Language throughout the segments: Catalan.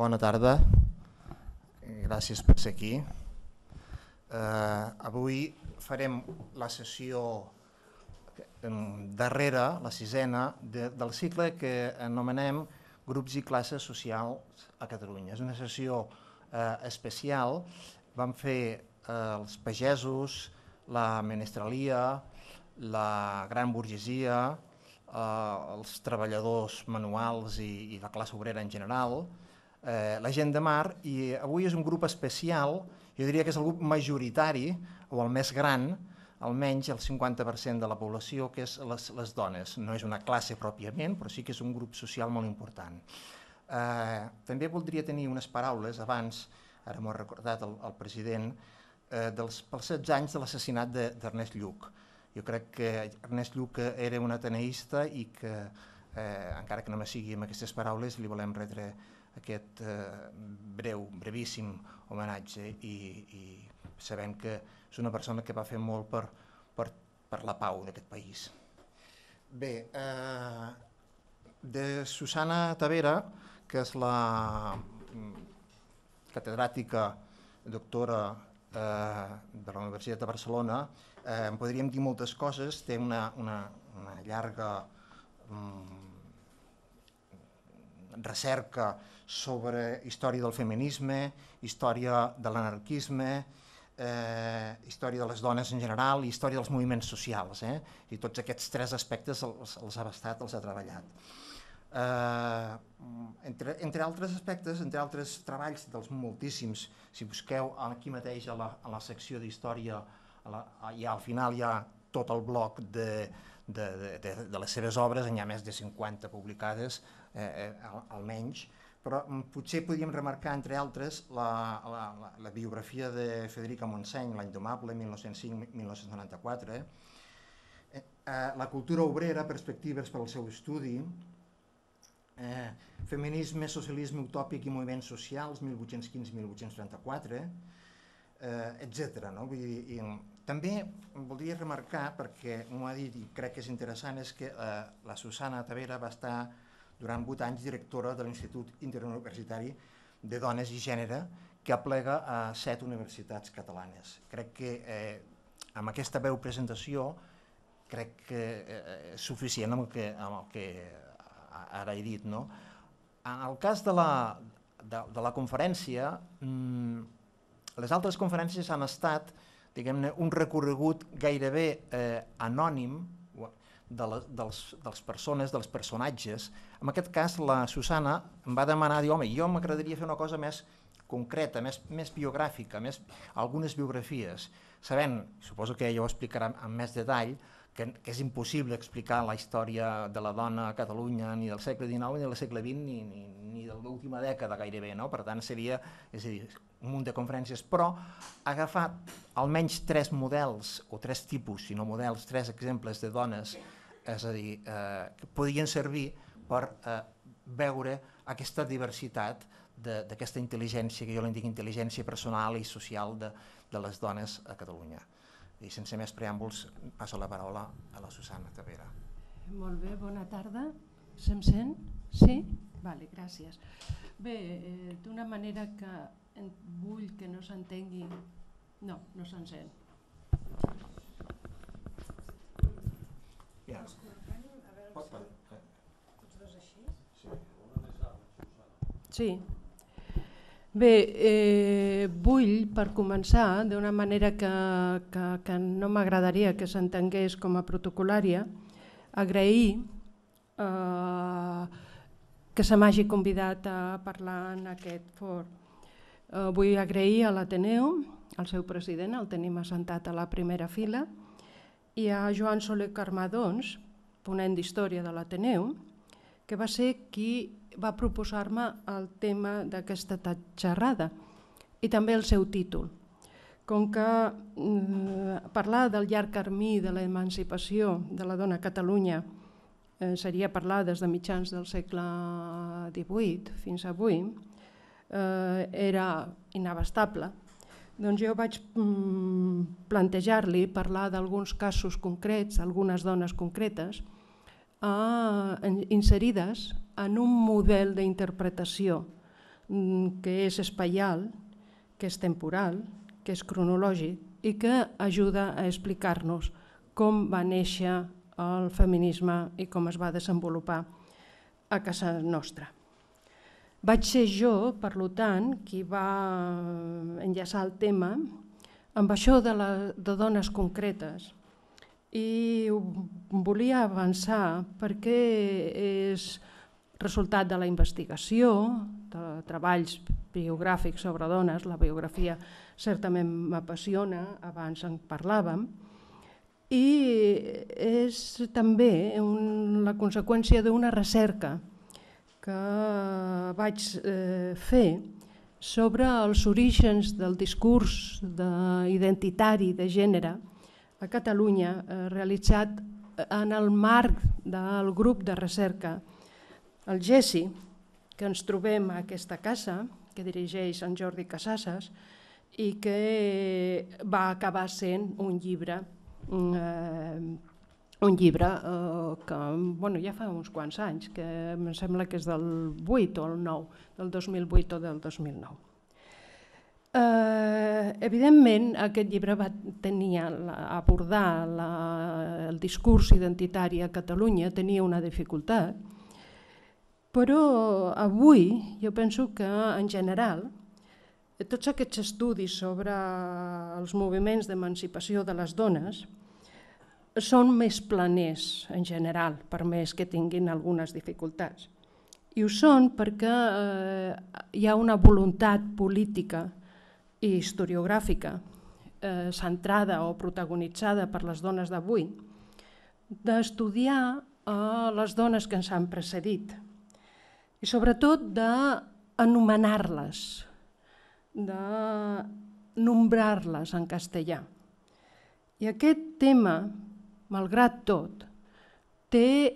Bona tarda, gràcies per ser aquí. Avui farem la sessió darrera, la sisena, del cicle que anomenem Grups i classes socials a Catalunya. És una sessió especial. Vam fer els pagesos, la menestralia, la gran burgesia, els treballadors manuals i la classe obrera en general, la gent de mar, i avui és un grup especial, jo diria que és el grup majoritari o el més gran, almenys el 50% de la població, que és les dones. No és una classe pròpiament, però sí que és un grup social molt important. També voldria tenir unes paraules abans, ara m'ho ha recordat el president, pels 16 anys de l'assassinat d'Ernest Lluch. Jo crec que Ernest Lluch era un ateneista i que, encara que no me sigui amb aquestes paraules, li volem retre aquest brevíssim homenatge i sabent que és una persona que va fer molt per la pau d'aquest país. Bé, de Susana Tavera, que és la catedràtica doctora de la Universitat de Barcelona, en podríem dir moltes coses. Té una llarga recerca sobre història del feminisme, història de l'anarquisme, història de les dones en general i història dels moviments socials. I tots aquests tres aspectes els ha abastat, els ha treballat. Entre altres aspectes, entre altres treballs dels moltíssims, si busqueu aquí mateix a la secció d'història, i al final hi ha tot el bloc de les seves obres, n'hi ha més de 50 publicades, almenys, però potser podríem remarcar, entre altres, la biografia de Federica Montseny, La indomable, 1905-1994, la cultura obrera, perspectives per al seu estudi, feminisme, socialisme utòpic i moviments socials, 1815-1834, etc. També voldria remarcar, perquè m'ho ha dit i crec que és interessant, és que la Susana Tavera va estar durant 8 anys directora de l'Institut Interuniversitari de Dones i Gènere, que aplega a 7 universitats catalanes. Crec que amb aquesta breu presentació crec que és suficient amb el que ara he dit. En el cas de la conferència, les altres conferències han estat, diguem-ne, un recorregut gairebé anònim dels persones, dels personatges. En aquest cas, la Susana em va demanar, diu, home, jo m'agradaria fer una cosa més concreta, més biogràfica, algunes biografies, sabent, suposo que ella ho explicarà amb més detall, que és impossible explicar la història de la dona a Catalunya ni del segle XIX, ni del segle XX, ni de l'última dècada gairebé, per tant seria, és a dir, un munt de conferències, però ha agafat almenys 3 models, o 3 tipus, si no models, 3 exemples de dones, és a dir, que podien servir per veure aquesta diversitat d'aquesta intel·ligència, que jo en dic intel·ligència personal i social de les dones a Catalunya. I sense més preàmbuls, passo la paraula a la Susana Tavera. Molt bé, bona tarda. Se'm sent? Sí? Vale, gràcies. Bé, d'una manera que vull que no s'entengui... No, no se'n sent. Sí. Bé, vull, per començar, d'una manera que no m'agradaria que s'entengués com a protocolària, agrair que se m'hagi convidat a parlar en aquest fòrum. Vull agrair a l'Ateneu, al seu president, el tenim assentat a la primera fila, i a Joan Soler Carmadons, ponent d'Història de l'Ateneu, que va ser qui va proposar-me el tema d'aquesta xerrada i també el seu títol. Com que parlar del llarg camí de l'emancipació de la dona a Catalunya seria parlar des de mitjans del segle XVIII fins avui, era inabastable, doncs jo vaig plantejar-li parlar d'alguns casos concrets, algunes dones concretes, inserides en un model d'interpretació que és espaial, que és temporal, que és cronològic i que ajuda a explicar-nos com va néixer el feminisme i com es va desenvolupar a casa nostra. Vaig ser jo, per tant, qui va enllaçar el tema amb això de dones concretes i volia avançar perquè és resultat de la investigació, de treballs biogràfics sobre dones, la biografia certament m'apassiona, abans en parlàvem, i és també la conseqüència d'una recerca que vaig fer sobre els orígens del discurs identitari de gènere a Catalunya, realitzat en el marc del grup de recerca, el GESI, que ens trobem a aquesta casa, que dirigeix en Jordi Casasses, i que va acabar sent un llibre que ja fa uns quants anys, que em sembla que és del 8 o el 9, del 2008 o del 2009. Evidentment, aquest llibre va abordar el discurs identitari a Catalunya, tenia una dificultat, però avui jo penso que en general tots aquests estudis sobre els moviments d'emancipació de les dones són més planers en general, per més que tinguin algunes dificultats. I ho són perquè hi ha una voluntat política i historiogràfica centrada o protagonitzada per les dones d'avui d'estudiar les dones que ens han precedit i sobretot d'anomenar-les, de nombrar-les en castellà. I aquest tema, malgrat tot, té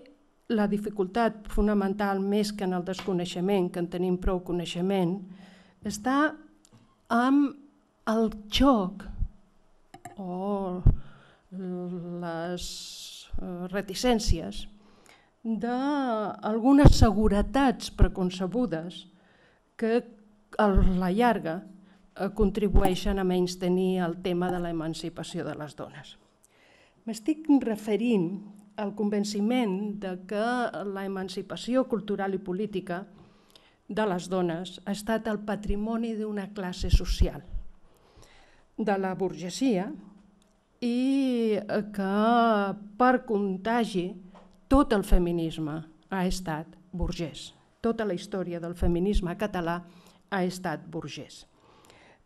la dificultat fonamental, més que en el desconeixement, que en tenim prou coneixement, està amb el xoc o les reticències d'algunes seguretats preconcebudes que a la llarga contribueixen a menystenir el tema de l'emancipació de les dones. M'estic referint al convenciment que l'emancipació cultural i política de les dones ha estat el patrimoni d'una classe social, de la burgesia, i que per contagi tot el feminisme ha estat burgès. Tota la història del feminisme català ha estat burgès.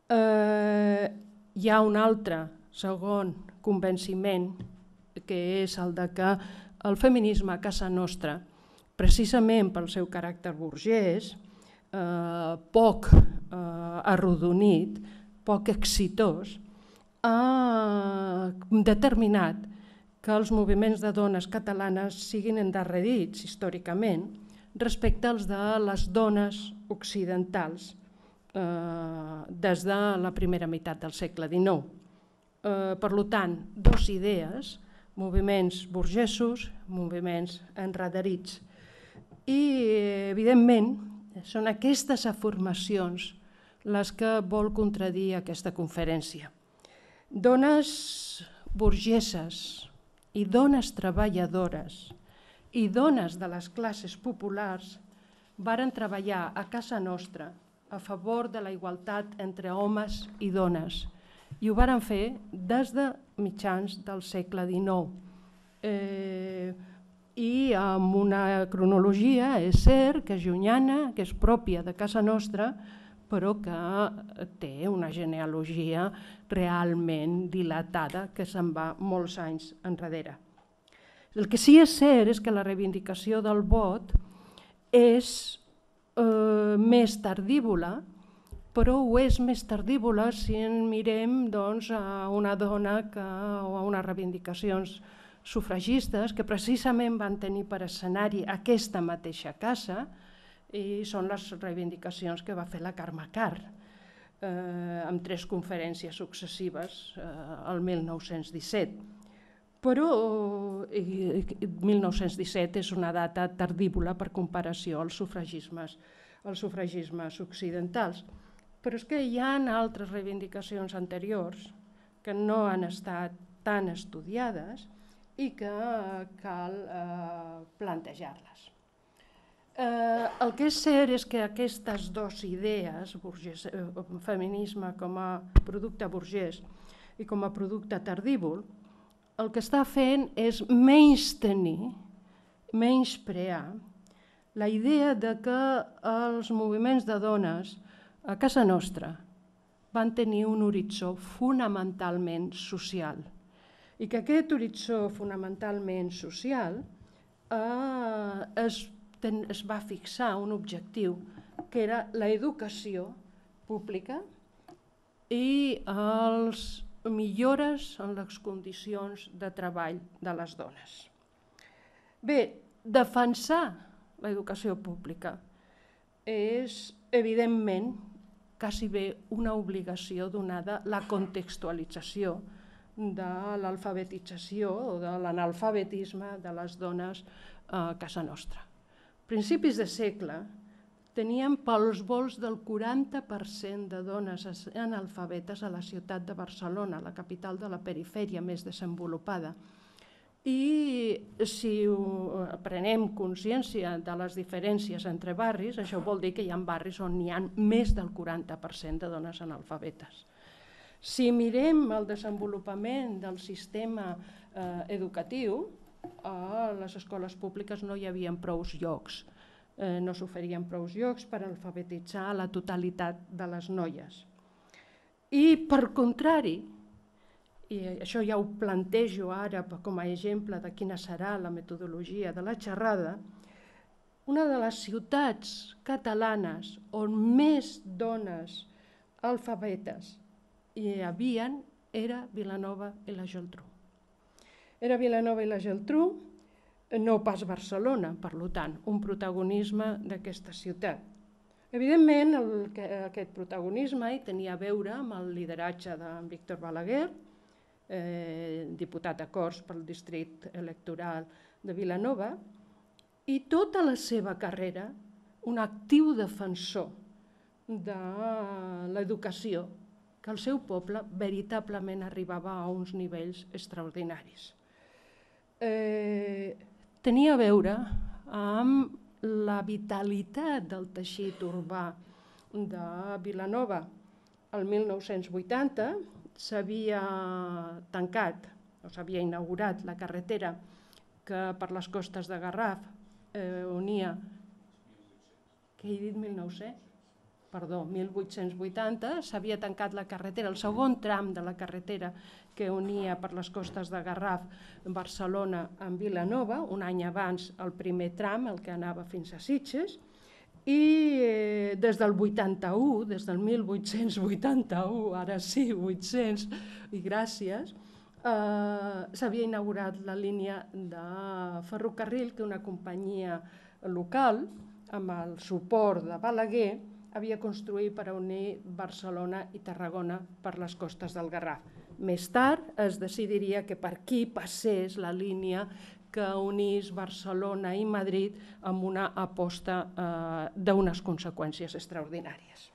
Hi ha un altre segon convenciment, que és el de que el feminisme a casa nostra, precisament pel seu caràcter burgès, poc arrodonit, poc exitós, ha determinat que els moviments de dones catalanes siguin endarrerits històricament respecte als de les dones occidentals des de la primera meitat del segle XIX. Per tant, dues idees, moviments burgesos, moviments endarrerits. I, evidentment, són aquestes afirmacions les que vol contradir aquesta conferència. Dones burgeses i dones treballadores i dones de les classes populars varen treballar a casa nostra a favor de la igualtat entre homes i dones i ho varen fer des de mitjans del segle XIX. I amb una cronologia, és cert, que és llunyana, que és pròpia de casa nostra, però que té una genealogia realment dilatada que se'n va molts anys enrere. El que sí és cert és que la reivindicació del vot és més tardívola, però ho és més tardívola si en mirem a una dona o a unes reivindicacions sufragistes que precisament van tenir per escenari aquesta mateixa casa, i són les reivindicacions que va fer la Carme Karr amb 3 conferències successives el 1917. Però 1917 és una data tardívola per comparació als sufragismes els sufragismes occidentals. Però és que hi ha altres reivindicacions anteriors que no han estat tan estudiades i que cal plantejar-les. El que és cert és que aquestes dues idees, feminisme com a producte burgès i com a producte tardívol, el que està fent és menystenir, menysprear la idea de que els moviments de dones a casa nostra van tenir un horitzó fonamentalment social i que aquest horitzó fonamentalment social es va fixar un objectiu que era l'educació pública i les millores en les condicions de treball de les dones. Bé, defensar l'educació pública és, evidentment, quasi bé una obligació donada la contextualització de l'alfabetització o de l'analfabetisme de les dones a casa nostra. A principis de segle teníem pels volts del 40% de dones analfabetes a la ciutat de Barcelona, la capital de la perifèria més desenvolupada. I si prenem consciència de les diferències entre barris, això vol dir que hi ha barris on hi ha més del 40% de dones analfabetes. Si mirem el desenvolupament del sistema educatiu, a les escoles públiques no hi havia prou llocs, no s'oferien prou llocs per alfabetitzar la totalitat de les noies. I per contrari, i això ja ho plantejo ara com a exemple de quina serà la metodologia de la xerrada, una de les ciutats catalanes on més dones alfabetes hi havia era Vilanova i la Geltrú. Era Vilanova i la Geltrú, no pas Barcelona, per tant, un protagonisme d'aquesta ciutat. Evidentment, aquest protagonisme tenia a veure amb el lideratge d'en Víctor Balaguer, diputat a Corts pel districte electoral de Vilanova, i tota la seva carrera un actiu defensor de l'educació, que el seu poble veritablement arribava a uns nivells extraordinaris. Tenia a veure amb la vitalitat del teixit urbà de Vilanova. El 1980 s'havia tancat, o s'havia inaugurat la carretera que per les costes de Garraf unia... Què he dit, 1900? Perdó, 1880, s'havia tancat la carretera, el segon tram de la carretera que unia per les costes de Garraf Barcelona amb Vilanova, un any abans el primer tram, el que anava fins a Sitges, i des del 81, des del 1881, ara sí, 800, i gràcies, s'havia inaugurat la línia de ferrocarril que una companyia local, amb el suport de Balaguer, havia construït per unir Barcelona i Tarragona per les costes del Garraf. Més tard es decidiria que per aquí passés la línia que unís Barcelona i Madrid amb una aposta d'unes conseqüències extraordinàries.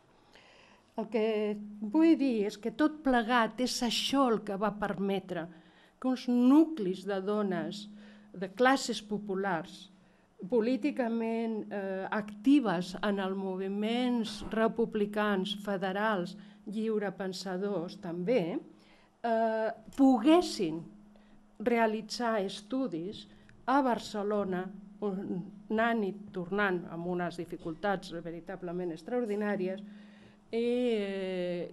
El que vull dir és que tot plegat és això el que va permetre que uns nuclis de dones de classes populars políticament actives en els moviments republicans, federals, lliurepensadors també, poguessin realitzar estudis a Barcelona, anant i tornant amb unes dificultats veritablement extraordinàries, i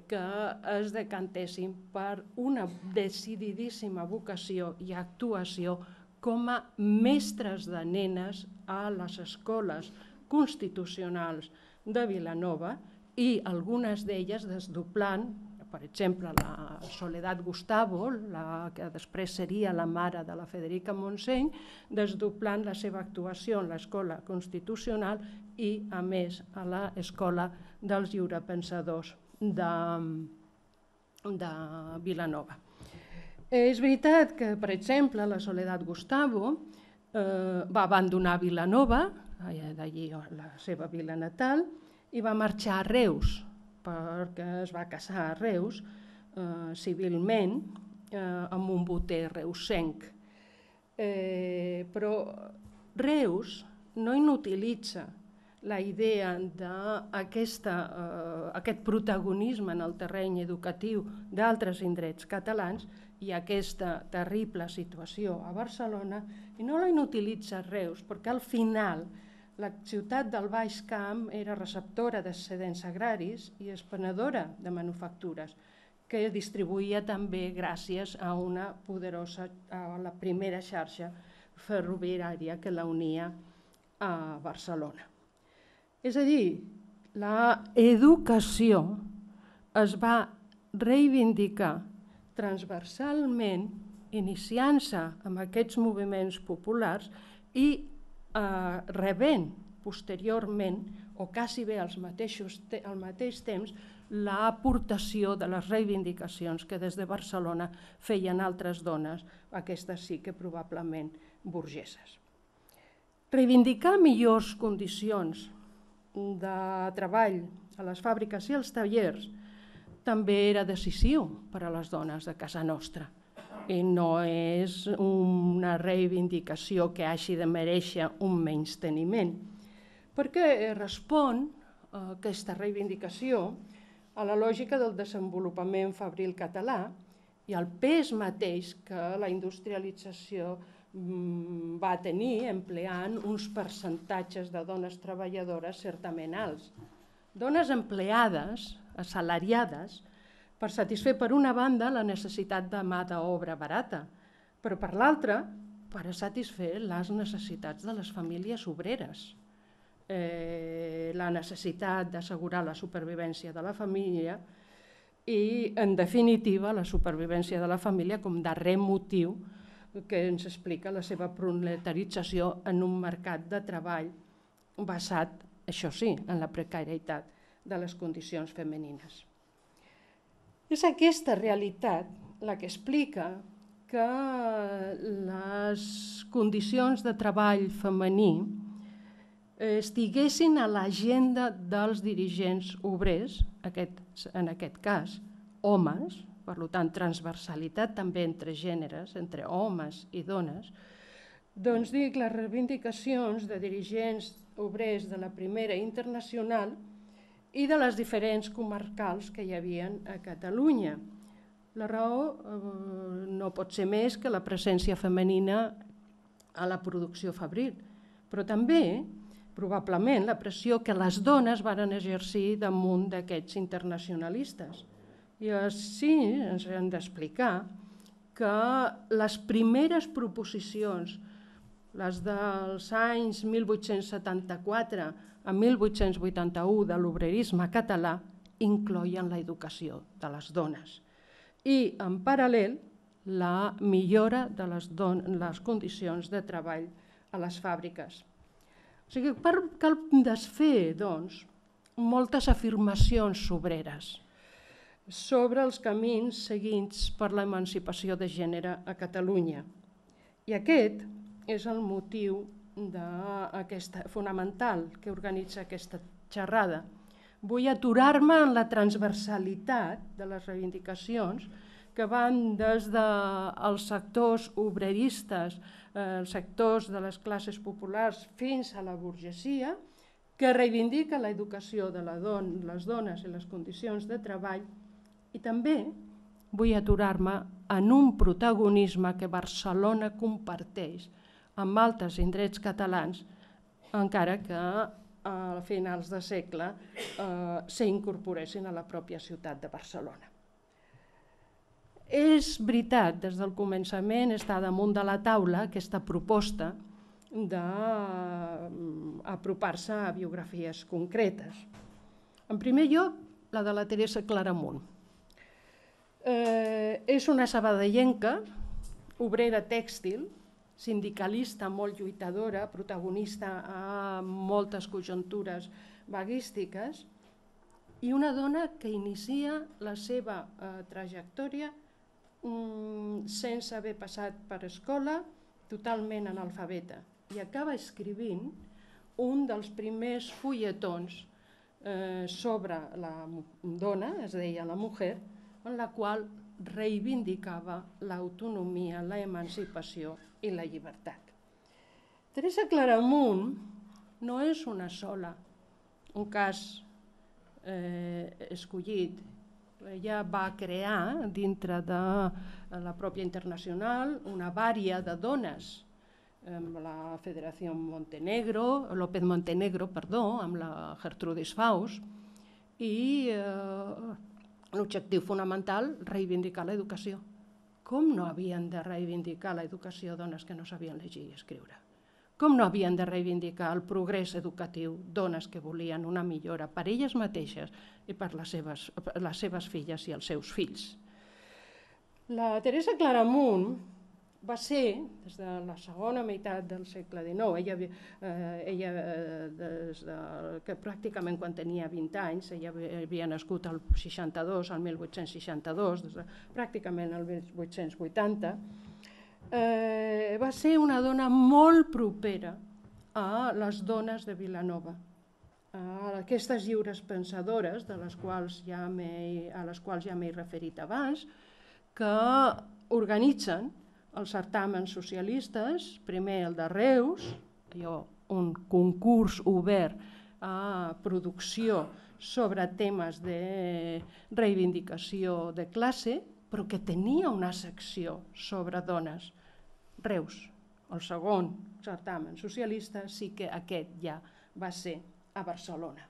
que es decantessin per una decididíssima vocació i actuació com a mestres de nenes a les escoles constitucionals de Vilanova i algunes d'elles desdoblant, per exemple, la Soledad Gustavo, que després seria la mare de la Federica Montseny, desdoblant la seva actuació en l'escola constitucional i, a més, a l'escola dels lliurepensadors de Vilanova. És veritat que, per exemple, la Soledad Gustavo va abandonar Vilanova d'allí la seva vila natal, i va marxar a Reus, perquè es va casar a Reus civilment amb un boter reusenc. Però Reus no inutilitza la idea d'aquest protagonisme en el terreny educatiu d'altres indrets catalans i aquesta terrible situació a Barcelona, i no la inutilitza Reus, perquè al final la ciutat del Baix Camp era receptora d'excedents agraris i expenedora de manufactures, que distribuïa també gràcies a una poderosa, a la primera xarxa ferroviària que la unia a Barcelona. És a dir, l'educació es va reivindicar transversalment, iniciant-se amb aquests moviments populars i rebent posteriorment, o quasi bé al mateix temps, l'aportació de les reivindicacions que des de Barcelona feien altres dones, aquestes sí que probablement burgeses. Reivindicar millors condicions de treball a les fàbriques i als tallers també era decisiu per a les dones de casa nostra. I no és una reivindicació que hagi de mereixer un menysteniment, perquè respon aquesta reivindicació a la lògica del desenvolupament fabril català i al pes mateix que la industrialització va tenir empleant uns percentatges de dones treballadores certament alts. Dones empleades, assalariades, per satisfer per una banda la necessitat de mà d'obra barata, però per l'altra per satisfer les necessitats de les famílies obreres. La necessitat d'assegurar la supervivència de la família i, en definitiva, la supervivència de la família com darrer motiu que ens explica la seva proletarització en un mercat de treball basat, això sí, en la precarietat de les condicions femenines. És aquesta realitat la que explica que les condicions de treball femení estiguessin a l'agenda dels dirigents obrers, en aquest cas homes, per tant transversalitat també entre gèneres, entre homes i dones, doncs dic les reivindicacions de dirigents obrers de la Primera Internacional i de les diferents comarcals que hi havia a Catalunya. La raó no pot ser més que la presència femenina a la producció fabril, però també, probablement, la pressió que les dones varen exercir damunt d'aquests internacionalistes. I així ens hem d'explicar que les primeres proposicions, les dels anys 1874 a 1881 de l'obrerisme català, incloïen l'educació de les dones i, en paral·lel, la millora de les condicions de treball a les fàbriques. O sigui, cal desfer, doncs, moltes afirmacions obreres sobre els camins seguits per l'emancipació de gènere a Catalunya. I aquest és el motiu fonamental que organitza aquesta xerrada. Vull aturar-me en la transversalitat de les reivindicacions que van des dels sectors obreristes, els sectors de les classes populars fins a la burgesia, que reivindica l'educació de les dones i les condicions de treball, i també vull aturar-me en un protagonisme que Barcelona comparteix amb altres indrets catalans, encara que a finals de segle s'incorporessin a la pròpia ciutat de Barcelona. És veritat, des del començament està damunt de la taula aquesta proposta d'apropar-se a biografies concretes. En primer lloc, la de la Teresa Claramunt. És una sabadellenca, obrera tèxtil, sindicalista molt lluitadora, protagonista a moltes conjuntures vaguístiques, i una dona que inicia la seva trajectòria sense haver passat per escola, totalment analfabeta, i acaba escrivint un dels primers fulletons sobre la dona, es deia La Mujer, en la qual reivindicava l'autonomia, la emancipació i la llibertat. Teresa Claramunt no és una sola, un cas escollit. Ella va crear, dintre de la pròpia internacional, una vària de dones, amb la Federació López Montenegro, amb la Gertrudis Faust, i l'objectiu fonamental, reivindicar l'educació. Com no havien de reivindicar l'educació dones que no sabien llegir i escriure? Com no havien de reivindicar el progrés educatiu dones que volien una millora per elles mateixes i per les seves filles i els seus fills? La Teresa Claramunt va ser, des de la segona meitat del segle XIX, ella que pràcticament quan tenia 20 anys, ella havia nascut al 62, al 1862, pràcticament al 1880, va ser una dona molt propera a les dones de Vilanova, a aquestes lliures pensadores, a les quals ja m'he referit abans, que organitzen els certàmens socialistes, primer el de Reus, un concurs obert a producció sobre temes de reivindicació de classe, però que tenia una secció sobre dones. Reus, el segon certamen socialista, sí que aquest ja va ser a Barcelona.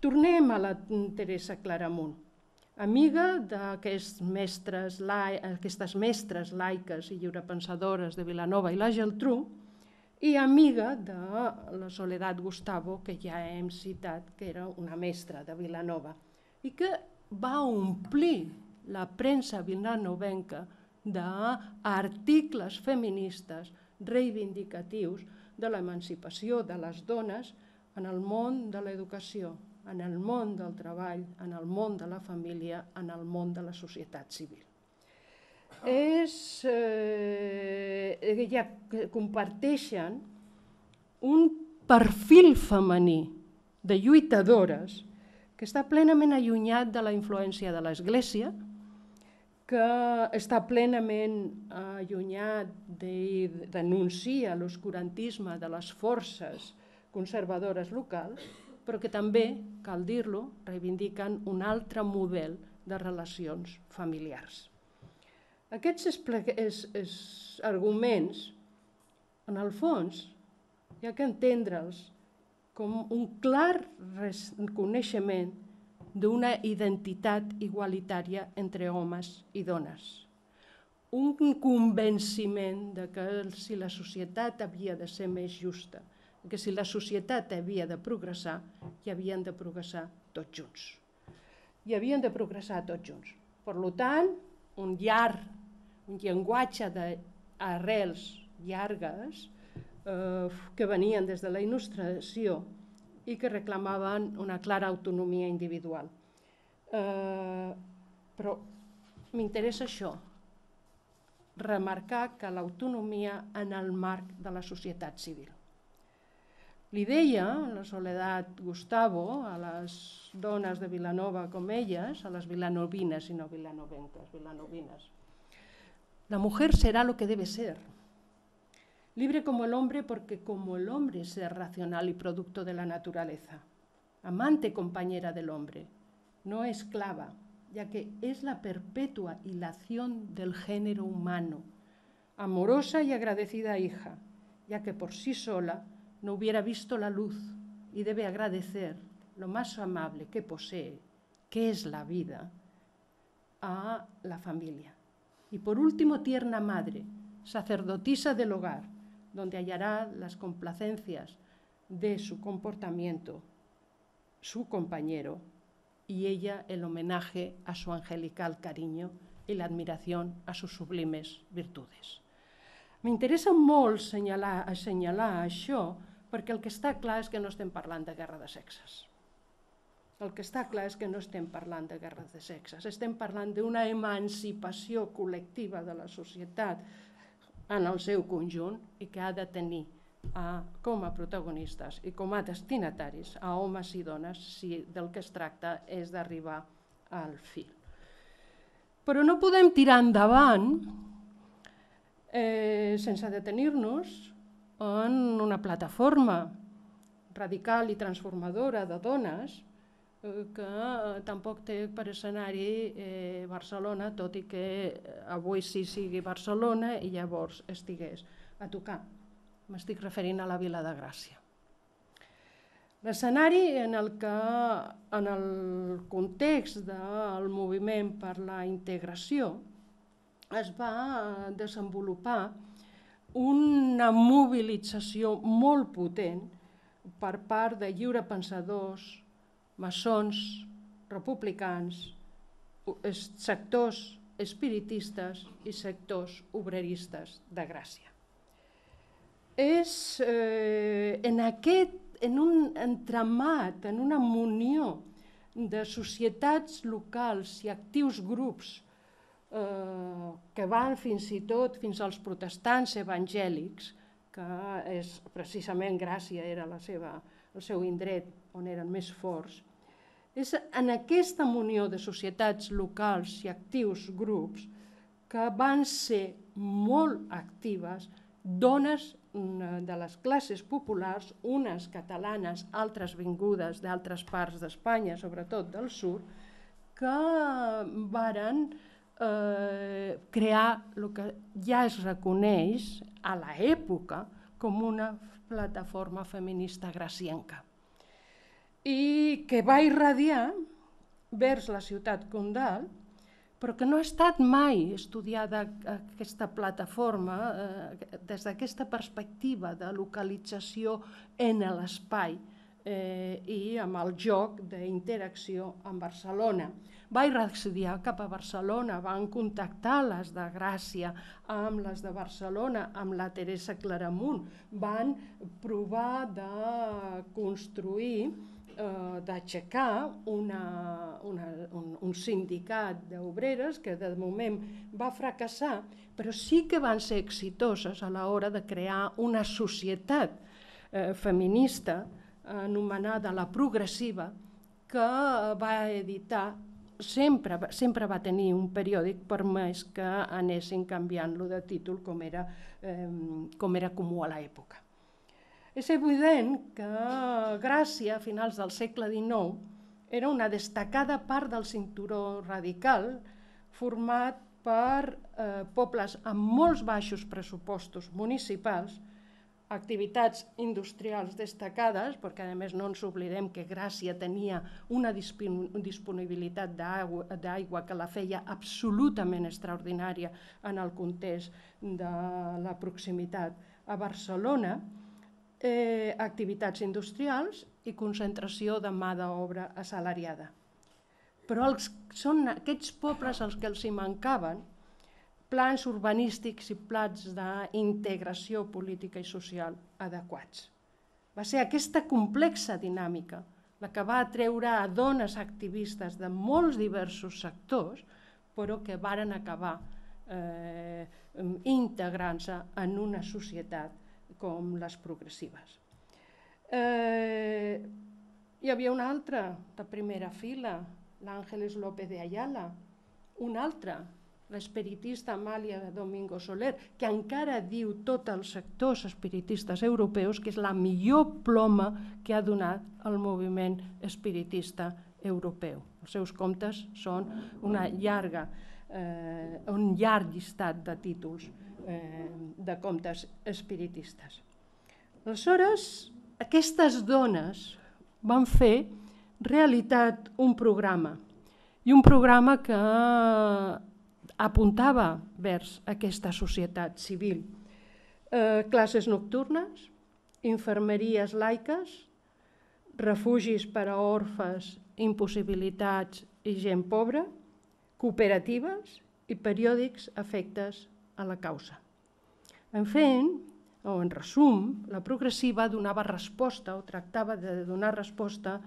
Tornem a la Teresa Claramunt. Amiga d'aquestes mestres laiques i lliurepensadores de Vilanova i la Geltrú, i amiga de la Soledad Gustavo, que ja hem citat, que era una mestra de Vilanova, i que va omplir la premsa vilanovenca d'articles feministes reivindicatius de l'emancipació de les dones en el món de l'educació, en el món del treball, en el món de la família, en el món de la societat civil. Comparteixen un perfil femení de lluitadores que està plenament allunyat de la influència de l'Església, que està plenament allunyat de denunciar l'oscurantisme de les forces conservadores locals, però que també, cal dir-lo, reivindiquen un altre model de relacions familiars. Aquests arguments, en el fons, hi ha que entendre'ls com un clar reconeixement d'una identitat igualitària entre homes i dones. Un convenciment de que si la societat havia de ser més justa, que si la societat havia de progressar, hi havien de progressar tots junts. Hi havien de progressar tots junts. Per tant, un llenguatge d'arrels llargues que venien des de la Il·lustració i que reclamaven una clara autonomia individual. Però m'interessa això, remarcar que l'autonomia en el marc de la societat civil. Li deia la Soledad Gustavo a les dones de Vilanova com elles, a les vilanovines i no vilanovenques, vilanovines. La mujer será lo que debe ser, libre como el hombre porque como el hombre es ser racional y producto de la naturaleza, amante compañera del hombre, no esclava, ya que es la perpetua hilación del género humano, amorosa y agradecida hija, ya que por sí sola no hubiera visto la luz y debe agradecer lo más amable que posee, que es la vida, a la familia. Y por último, tierna madre, sacerdotisa del hogar, donde hallará las complacencias de su comportamiento, su compañero, y ella el homenaje a su angelical cariño y la admiración a sus sublimes virtudes. M'interessa molt assenyalar això perquè el que està clar és que no estem parlant de guerra de sexes. El que està clar és que no estem parlant de guerra de sexes, estem parlant d'una emancipació col·lectiva de la societat en el seu conjunt i que ha de tenir com a protagonistes i com a destinataris a homes i dones si del que es tracta és d'arribar al fil. Però no podem tirar endavant sense detenir-nos en una plataforma radical i transformadora de dones que tampoc té per escenari Barcelona, tot i que avui sí sigui Barcelona i llavors estigués a tocar. M'estic referint a la Vila de Gràcia. L'escenari en el context del moviment per la integració es va desenvolupar una mobilització molt potent per part de lliurepensadors, maçons, republicans, sectors espiritistes i sectors obreristes de Gràcia. És en un entramat, en una munió de societats locals i actius grups que van fins i tot fins als protestants evangèlics, que és precisament Gràcia era el seu indret on eren més forts. És en aquesta munió de societats locals i actius grups que van ser molt actives dones de les classes populars, unes catalanes, altres vingudes d'altres parts d'Espanya, sobretot del sud, que varen crear el que ja es reconeix a l'època com una plataforma feminista gracienca i que va irradiar vers la ciutat condal, però que no ha estat mai estudiada aquesta plataforma des d'aquesta perspectiva de localització en l'espai i amb el joc d'interacció amb Barcelona. Va irradiar cap a Barcelona, van contactar les de Gràcia amb les de Barcelona, amb la Teresa Claramunt, van provar de construir, d'aixecar un sindicat d'obreres que de moment va fracassar, però sí que van ser exitoses a l'hora de crear una societat feminista anomenada La Progressiva, que va editar, sempre va tenir un periòdic, per més que anessin canviant-lo de títol com era comú a l'època. És evident que Gràcia, a finals del segle XIX, era una destacada part del cinturó radical format per pobles amb molts baixos pressupostos municipals, activitats industrials destacades, perquè a més no ens oblidem que Gràcia tenia una disponibilitat d'aigua que la feia absolutament extraordinària en el context de la proximitat a Barcelona, activitats industrials i concentració de mà d'obra assalariada. Però són aquests pobles als que els hi mancaven plans urbanístics i plans d'integració política i social adequats. Va ser aquesta complexa dinàmica la que va atreure a dones activistes de molts diversos sectors, però que varen acabar integrant-se en una societat com les progressives. Hi havia una altra de primera fila, l'Àngeles López de Ayala, una altra, l'espiritista Amàlia Domingo Soler, que encara diu tots els sectors espiritistes europeus que és la millor ploma que ha donat el moviment espiritista europeu. Els seus comptes són un llarg llistat de títols de comptes espiritistes. Aleshores, aquestes dones van fer realitat un programa, i un programa que apuntava vers aquesta societat civil. Classes nocturnes, infermeries laiques, refugis per a orfes, impossibilitats i gent pobra, cooperatives i periòdics afectes a la causa. En resum, la progressiva donava resposta o tractava de donar resposta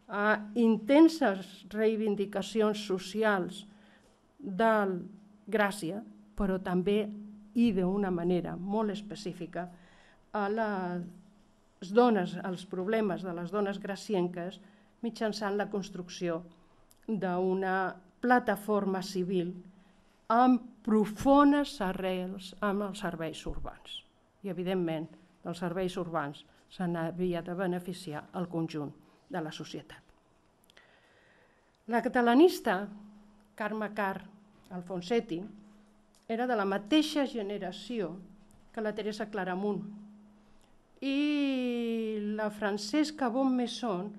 a intenses reivindicacions socials de Gràcia, però també i d'una manera molt específica a les dones, als problemes de les dones gracienques mitjançant la construcció d'una plataforma civil amb profundes arrels amb els serveis urbans. I, evidentment, dels serveis urbans se n'havia de beneficiar el conjunt de la societat. La catalanista Carme Karr Alfonsetti era de la mateixa generació que la Teresa Claramunt i la Francesca Bonmesson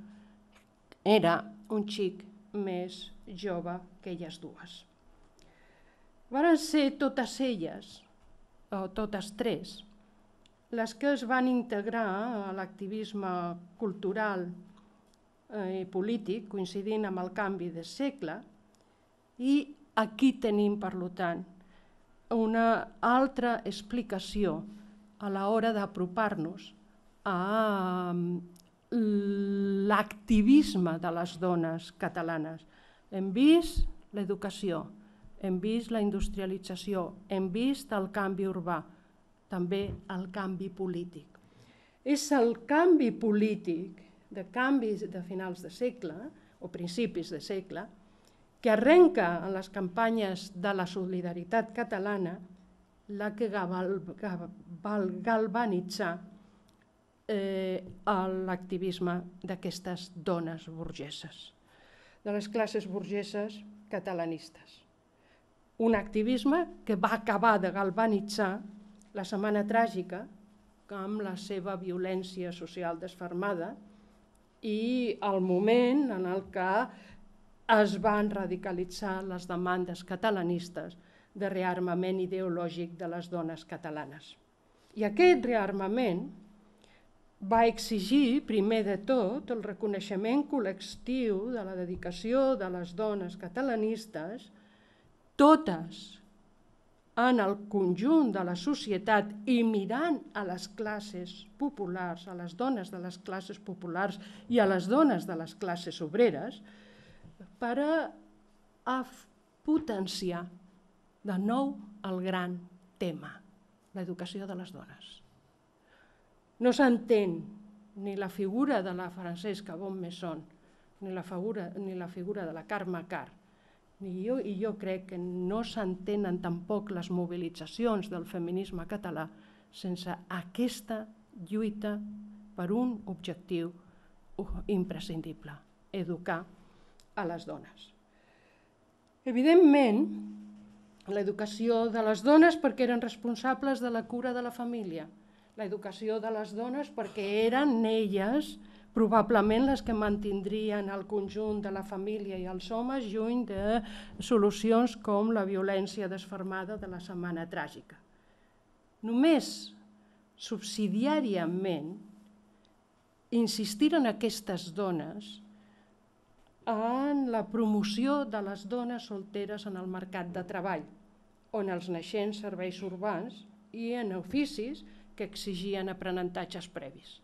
era un xic més jove que elles dues. Varen ser totes elles, o totes tres, les que es van integrar a l'activisme cultural i polític, coincidint amb el canvi de segle, i aquí tenim, per tant, una altra explicació a l'hora d'apropar-nos a l'activisme de les dones catalanes. Hem vist l'educació, hem vist la industrialització, hem vist el canvi urbà, també el canvi polític. És el canvi polític de canvis de finals de segle o principis de segle que arrenca en les campanyes de la solidaritat catalana la que va galvanitzar l'activisme d'aquestes dones burgeses, de les classes burgeses catalanistes. Un activisme que va acabar de galvanitzar la Setmana Tràgica amb la seva violència social desfermada i el moment en el que es van radicalitzar les demandes catalanistes de rearmament ideològic de les dones catalanes. I aquest rearmament va exigir, primer de tot, el reconeixement col·lectiu de la dedicació de les dones catalanistes, totes en el conjunt de la societat i mirant a les classes populars, a les dones de les classes populars i a les dones de les classes obreres, per a potenciar de nou el gran tema, l'educació de les dones. No s'entén ni la figura de la Francesca Bonmesson ni la figura de la Carme Karr, i jo crec que no s'entenen tampoc les mobilitzacions del feminisme català sense aquesta lluita per un objectiu imprescindible, educar a les dones. Evidentment, l'educació de les dones perquè eren responsables de la cura de la família, l'educació de les dones perquè eren elles probablement les que mantindrien el conjunt de la família i els homes lluny de solucions com la violència desfermada de la Setmana Tràgica. Només subsidiàriament insistiren aquestes dones en la promoció de les dones solteres en el mercat de treball, on els naixents serveis urbans i en oficis que exigien aprenentatges previs.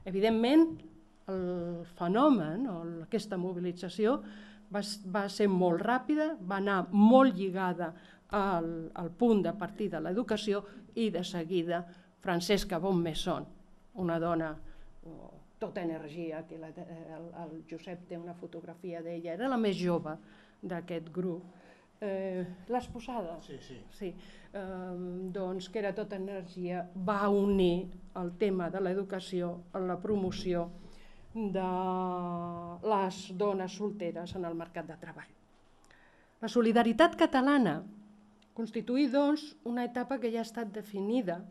Evidentment, el fenomen o aquesta mobilització va ser molt ràpida, va anar molt lligada al punt de partida de l'educació i de seguida Francesca Bonmesson, una dona tota energia, que el Josep té una fotografia d'ella, era la més jove d'aquest grup. L'has posada? Sí. Doncs que era tota energia, va unir el tema de l'educació en la promoció de les dones solteres en el mercat de treball. La solidaritat catalana constituïa, doncs, una etapa que ja ha estat definida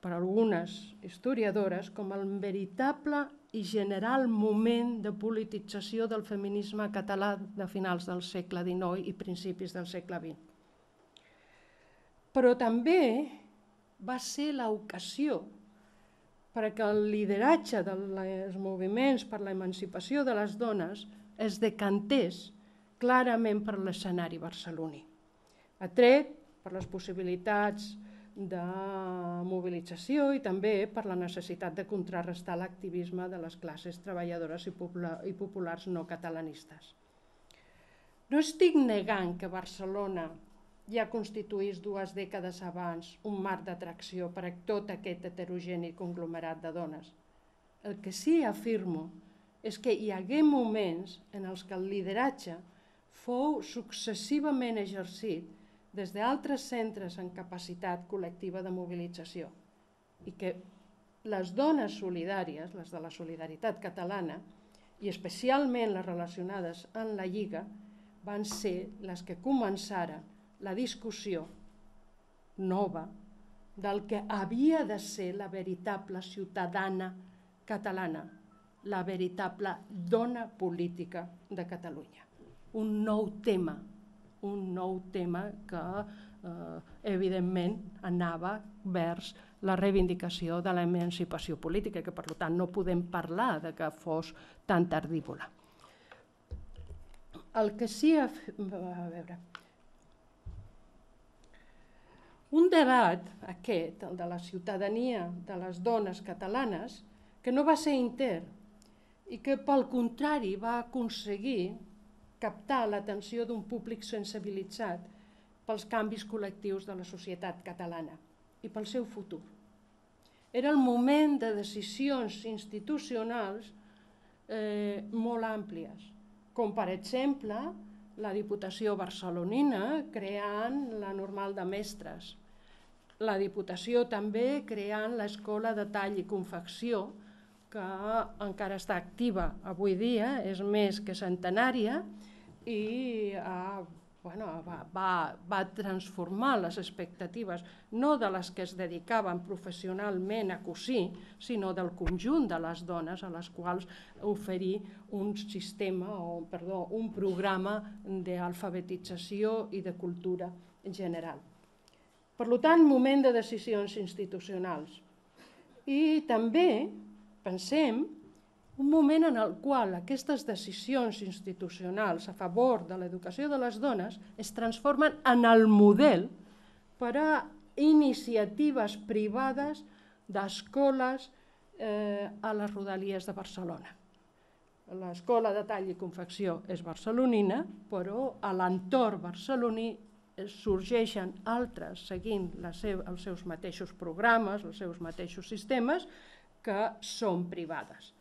per algunes historiadores com el veritable i general moment de politització del feminisme català de finals del segle XIX i principis del segle XX. Però també va ser l'ocasió perquè el lideratge dels moviments per l'emancipació de les dones es decantés clarament per l'escenari barceloní, atret per les possibilitats de mobilització i també per la necessitat de contrarrestar l'activisme de les classes treballadores i populars no catalanistes. No estic negant que Barcelona ja constituís 2 dècades abans un marc d'atracció per a tot aquest heterogeni conglomerat de dones. El que sí afirmo és que hi hagué moments en els que el lideratge fou successivament exercit des d'altres centres en capacitat col·lectiva de mobilització i que les dones solidàries, les de la solidaritat catalana, i especialment les relacionades amb la Lliga, van ser les que començaren la discussió nova del que havia de ser la veritable ciutadana catalana, la veritable dona política de Catalunya. Un nou tema que evidentment anava vers la reivindicació de l'emancipació política, que per tant no podem parlar de que fos tan tardívola. El que sí... A veure... Un debat, aquest, el de la ciutadania de les dones catalanes, que no va ser intern i que, pel contrari, va aconseguir captar l'atenció d'un públic sensibilitzat pels canvis col·lectius de la societat catalana i pel seu futur. Era el moment de decisions institucionals molt àmplies, com per exemple la Diputació barcelonina creant la Normal de Mestres, la Diputació també creant l'Escola de Tall i Confecció, que encara està activa avui dia, és més que centenària, i va transformar les expectatives, no de les que es dedicaven professionalment a cosir, sinó del conjunt de les dones a les quals oferir un programa d'alfabetització i de cultura en general. Per tant, moment de decisions institucionals. I també, pensem, un moment en el qual aquestes decisions institucionals a favor de l'educació de les dones es transformen en el model per a iniciatives privades d'escoles a les rodalies de Barcelona. L'Escola de Tall i Confecció és barcelonina, però a l'entorn barceloní sorgeixen altres seguint els seus mateixos programes, els seus mateixos sistemes, que són privades.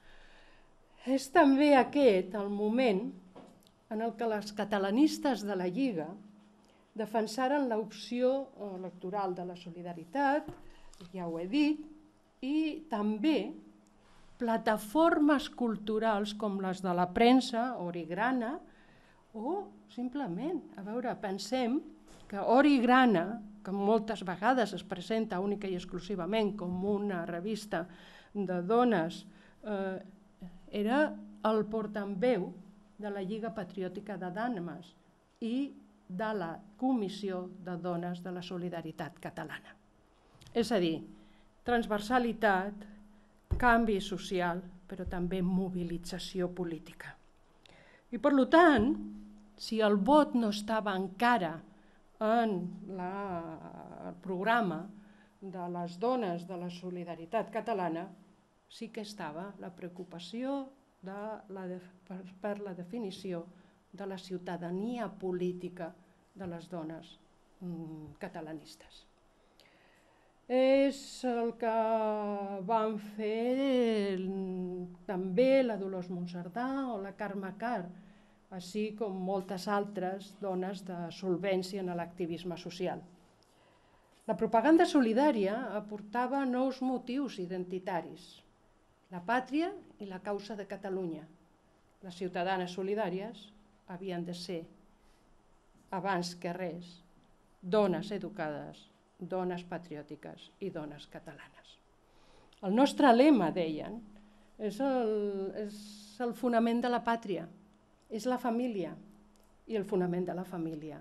És també aquest el moment en el que les catalanistes de la Lliga defensaren l'opció electoral de la solidaritat, ja ho he dit, i també plataformes culturals com les de la premsa, Origrana, o simplement, pensem que Origrana, que moltes vegades es presenta única i exclusivament com una revista de dones, era el portaveu de la Lliga Patriòtica de Dames i de la Comissió de Dones de la Solidaritat Catalana. És a dir, transversalitat, canvi social, però també mobilització política. I per tant, si el vot no estava encara en el programa de les dones de la solidaritat catalana, sí que estava la preocupació per la definició de la ciutadania política de les dones catalanistes. És el que van fer també la Dolors Monserdà o la Carme Karr, així com moltes altres dones de solvència en l'activisme social. La propaganda solidària aportava nous motius identitaris, la pàtria i la causa de Catalunya. Les ciutadanes solidàries havien de ser, abans que res, dones educades, dones patriòtiques i dones catalanes. El nostre lema, deien, és el fonament de la pàtria, és la família, i el fonament de la família,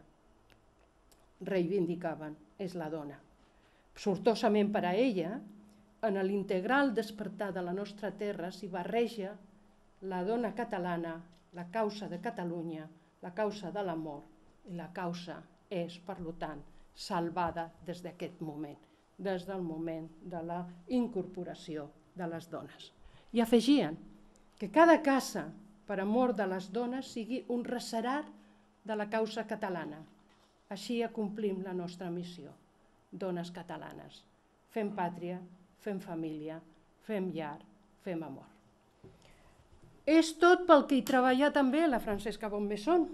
reivindicaven, és la dona. Sortosament per a ella, en l'integral despertar de la nostra terra s'hi barreja la dona catalana, la causa de Catalunya, la causa de l'amor, i la causa és, per tant, salvada des d'aquest moment, des del moment de la incorporació de les dones. I afegien que cada casa per amor de les dones sigui un reserat de la causa catalana, Així acomplim la nostra missió, dones catalanes. Fem pàtria, fem família, fem llar, fem amor. És tot pel que hi treballa també la Francesca Bonmesson,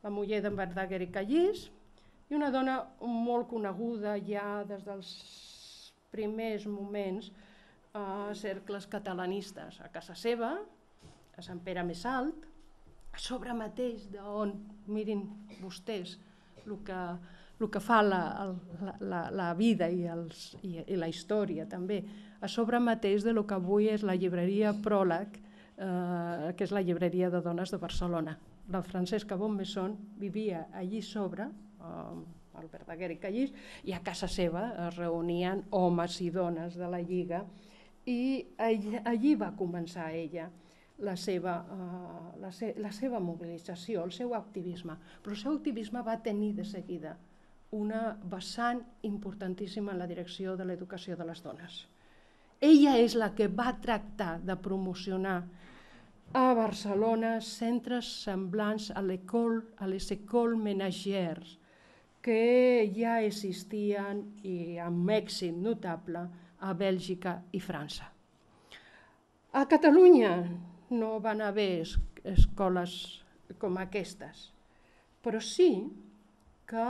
la muller d'en Verdaguer i Callís, i una dona molt coneguda ja des dels primers moments a cercles catalanistes, a casa seva, a Sant Pere Més Alt, a sobre mateix d'on, mirin vostès, el que fa la vida i la història també, a sobre mateix del que avui és la llibreria Pròleg, que és la llibreria de dones de Barcelona. La Francesca Bonmesson vivia allí sobre, al Verdaguer i Callís, i a casa seva es reunien homes i dones de la Lliga, i allí va començar ella la seva mobilització, el seu activisme. Però el seu activisme va tenir de seguida una vessant importantíssima en la direcció de l'educació de les dones. Ella és la que va tractar de promocionar a Barcelona centres semblants a les écoles ménagères que ja existien i amb èxit notable a Bèlgica i França. A Catalunya no van haver escoles com aquestes, però sí que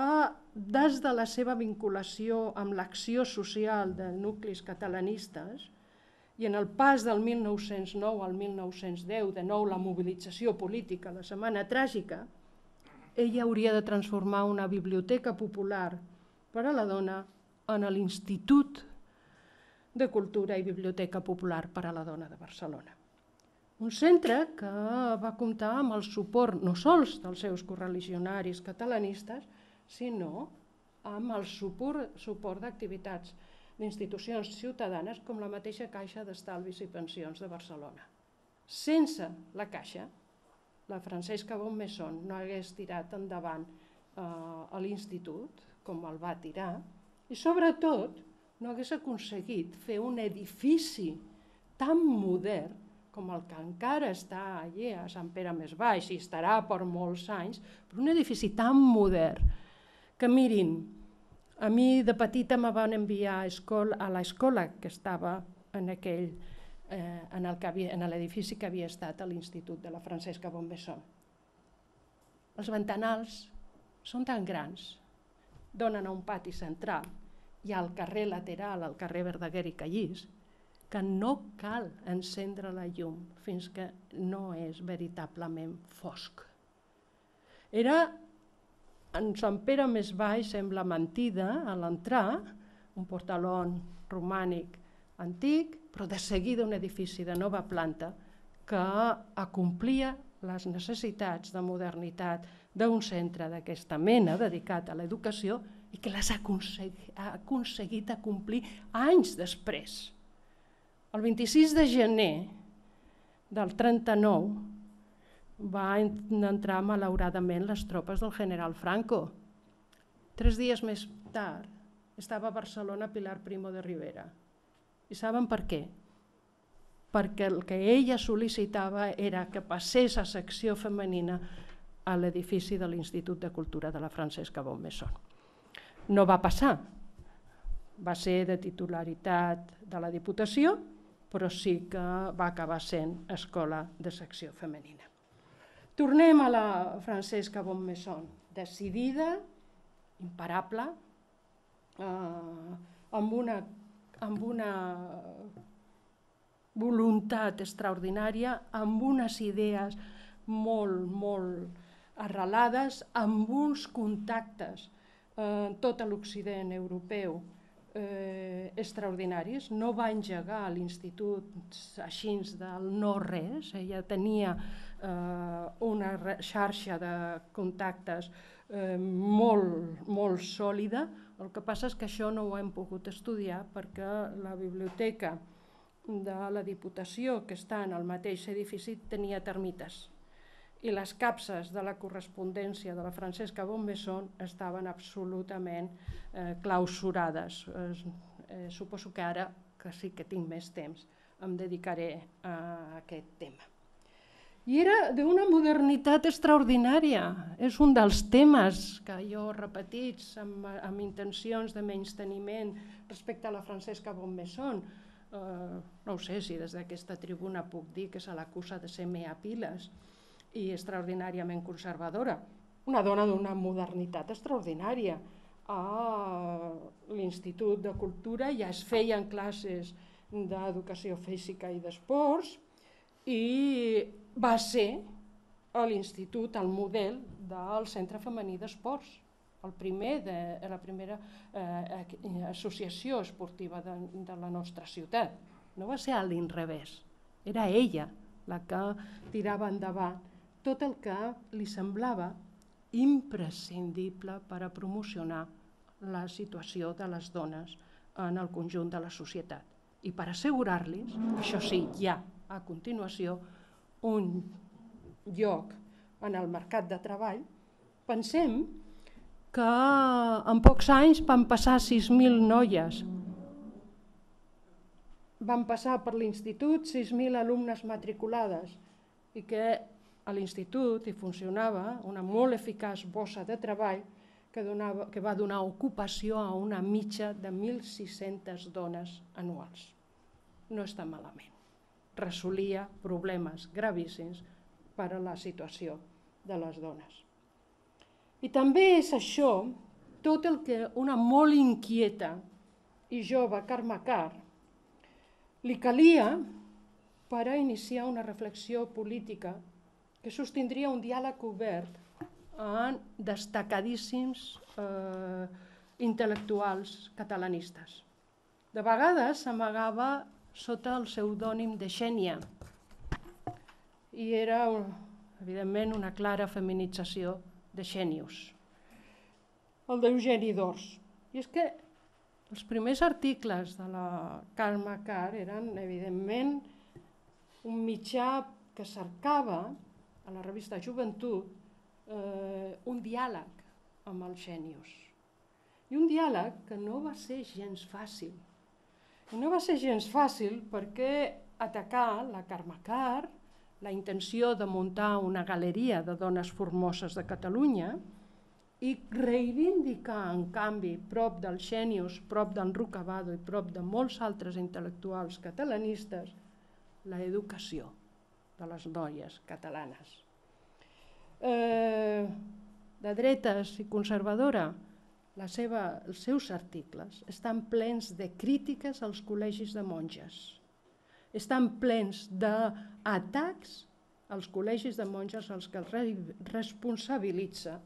des de la seva vinculació amb l'acció social de nuclis catalanistes i en el pas del 1909 al 1910, de nou la mobilització política, la Setmana Tràgica, ella hauria de transformar una biblioteca popular per a la dona en l'Institut de Cultura i Biblioteca Popular per a la Dona de Barcelona. Un centre que va comptar amb el suport no sols dels seus correligionaris catalanistes, sinó amb el suport d'activitats d'institucions ciutadanes com la mateixa Caixa d'Estalvis i Pensions de Barcelona. Sense la Caixa, la Francesca Bonmesson no hagués tirat endavant l'institut com el va tirar i sobretot no hagués aconseguit fer un edifici tan modern com el que encara està allà a Sant Pere Més Baix i estarà per molts anys, però un edifici tan modern que mirin, a mi de petita me van enviar a l'escola que estava en l'edifici que havia estat a l'Institut de la Francesca Bonmesson. Els ventanals són tan grans, donen a un pati central i al carrer lateral, al carrer Verdaguer i Callís, que no cal encendre la llum fins que no és veritablement fosc. Era en Sant Pere Més Baix, sembla mentida, a l'entrar, un portalón romànic antic, però de seguida un edifici de nova planta que acomplia les necessitats de modernitat d'un centre d'aquesta mena dedicat a l'educació i que les ha aconseguit acomplir anys després. El 26 de gener del 39 van entrar malauradament les tropes del general Franco. 3 dies més tard estava a Barcelona Pilar Primo de Rivera. I saben per què? Perquè el que ella sol·licitava era que passés a secció femenina a l'edifici de l'Institut de Cultura de la Francesca Bonmesson. No va passar, va ser de titularitat de la Diputació, però sí que va acabar sent escola de secció femenina. Tornem a la Francesca Bonmesson, decidida, imparable, amb una voluntat extraordinària, amb unes idees molt arrelades, amb uns contactes en tot l'Occident europeu extraordinaris. No va engegar l'Institut així del no-res, ella tenia una xarxa de contactes molt sòlida. El que passa és que això no ho hem pogut estudiar perquè la biblioteca de la Diputació, que està en el mateix edifici, tenia termites i les capses de la correspondència de la Francesca Bonmesson estaven absolutament clausurades. Suposo que ara, que sí que tinc més temps, em dedicaré a aquest tema. I era d'una modernitat extraordinària. És un dels temes que jo he repetit amb intencions de menysteniment respecte a la Francesca Bonmesson. No ho sé si des d'aquesta tribuna puc dir que se l'acusa de ser mea piles i extraordinàriament conservadora. Una dona d'una modernitat extraordinària. A l'Institut de Cultura ja es feien classes d'educació física i d'esports i va ser a l'Institut el model del Centre Femení d'Esports, la primera associació esportiva de la nostra ciutat. No va ser a l'inrevés, era ella la que tirava endavant tot el que li semblava imprescindible per a promocionar la situació de les dones en el conjunt de la societat. I per assegurar-los, això sí, ja a continuació, un lloc en el mercat de treball, pensem que en pocs anys van passar 6.000 noies. Van passar per l'institut 6.000 alumnes matriculades i que a l'institut hi funcionava una molt eficaç bossa de treball que va donar ocupació a una mitja de 1.600 dones anuals. No està malament. Resolia problemes gravíssims per a la situació de les dones. I també és això tot el que una molt inquieta i jove Carme Karr li calia per a iniciar una reflexió política que sostindria un diàleg obert amb destacadíssims intel·lectuals catalanistes. De vegades s'amagava sota el pseudònim de Xènia i era, evidentment, una clara feminització de Xènius, el d'Eugeni d'Ors. I és que els primers articles de la Carme Karr eren, evidentment, un mitjà que cercava a la revista Joventut un diàleg amb el Xènius. I un diàleg que no va ser gens fàcil. I no va ser gens fàcil perquè atacar la Carme Karr, la intenció de muntar una galeria de dones formoses de Catalunya i reivindicar, en canvi, prop del Xènius, prop d'en Rucabado i prop de molts altres intel·lectuals catalanistes, l'educació de les noies catalanes. De dretes i conservadora, els seus articles estan plens de crítiques als col·legis de monges, estan plens d'atacs als col·legis de monges als que responsabilitza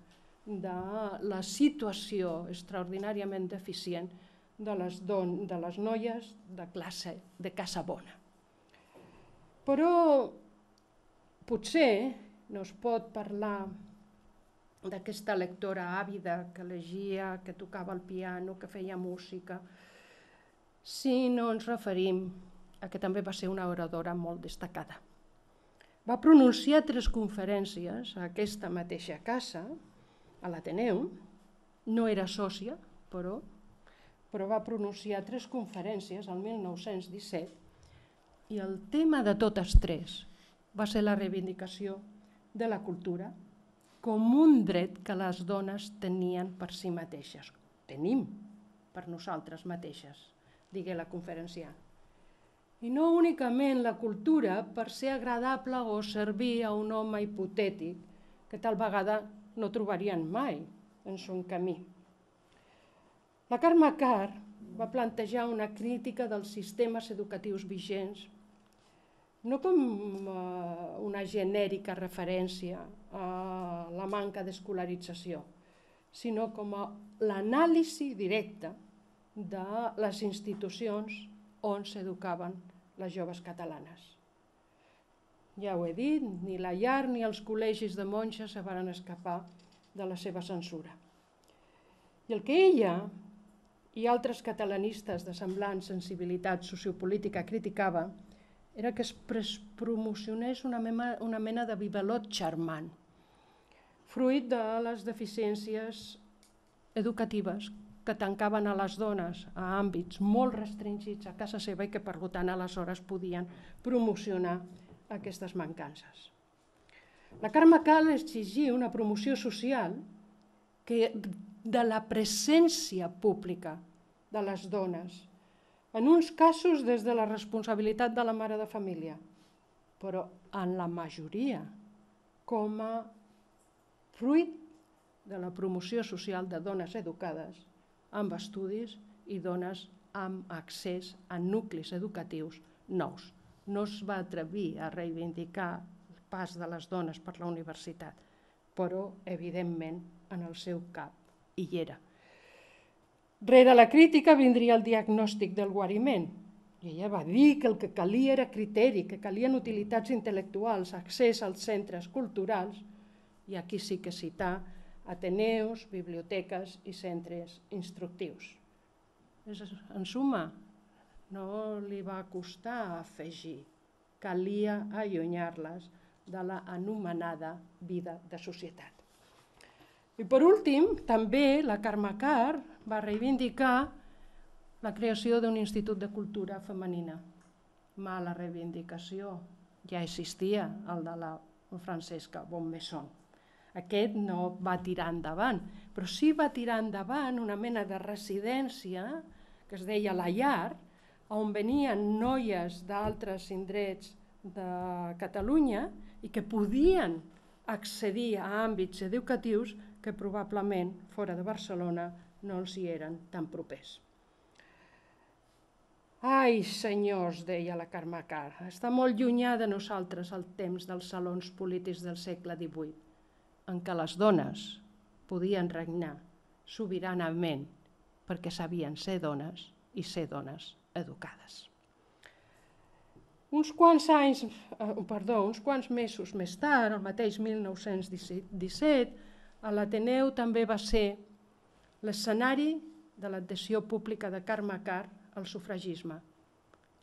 de la situació extraordinàriament deficient de les noies de classe de casa bona. Però potser no es pot parlar d'aquesta lectora àvida que llegia, que tocava el piano, que feia música, si no ens referim a que també va ser una oradora molt destacada. Va pronunciar 3 conferències a aquesta mateixa casa, a l'Ateneu, no era sòcia, però va pronunciar 3 conferències el 1917 i el tema de totes 3 va ser la reivindicació de la cultura com un dret que les dones tenien per si mateixes. Tenim per nosaltres mateixes, digué la conferenciant. I no únicament la cultura per ser agradable o servir a un home hipotètic que tal vegada no trobarien mai en son camí. La Carme Karr va plantejar una crítica dels sistemes educatius vigents, no com una genèrica referència a la manca d'escolarització, sinó com a l'anàlisi directa de les institucions on s'educaven les joves catalanes. Ja ho he dit, ni la llar ni els col·legis de monges se van escapar de la seva censura. I el que ella i altres catalanistes de semblant sensibilitat sociopolítica criticava era que es promocionés una mena de bibalot charmant, fruit de les deficiències educatives que tancaven a les dones a àmbits molt restringits a casa seva i que per tant aleshores podien promocionar aquestes mancances. La Carme cal exigir una promoció social de la presència pública de les dones, en uns casos des de la responsabilitat de la mare de família, però en la majoria com a fruit de la promoció social de dones educades amb estudis i dones amb accés a nuclis educatius nous. No es va atrevir a reivindicar el pas de les dones per la universitat, però evidentment en el seu cap hi era. Rere la crítica vindria el diagnòstic del guariment. I ella va dir que el que calia era criteri, que calien utilitats intel·lectuals, accés als centres culturals, i aquí sí que citar ateneus, biblioteques i centres instructius. En suma, no li va costar afegir, calia allunyar-les de l'anomenada vida de societat. I per últim, també la Carme Karr va reivindicar la creació d'un institut de cultura femenina. Mala reivindicació, ja existia el de la Francesca Bonmesson. Aquest no va tirar endavant, però sí va tirar endavant una mena de residència que es deia La Llar, on venien noies d'altres indrets de Catalunya i que podien accedir a àmbits educatius que probablement fora de Barcelona no els hi eren tan propers. Ai, senyors, deia la Carme Karr, està molt llunyà de nosaltres el temps dels salons polítics del segle XVIII, en què les dones podien regnar sobiranament perquè sabien ser dones i ser dones educades. Uns quants mesos més tard, el mateix 1917, l'Ateneu també va ser l'escenari de l'adhesió pública de Carme Karr al sufragisme,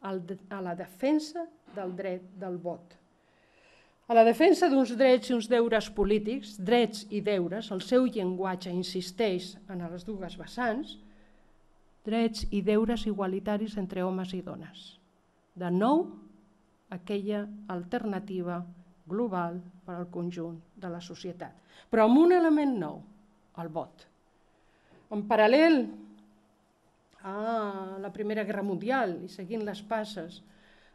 a la defensa del dret del vot, a la defensa d'uns drets i uns deures polítics, drets i deures, el seu llenguatge insisteix en les dues vessants, drets i deures igualitaris entre homes i dones. De nou, aquella alternativa global per al conjunt de la societat, però amb un element nou, el vot. En paral·lel a la Primera Guerra Mundial i seguint les passes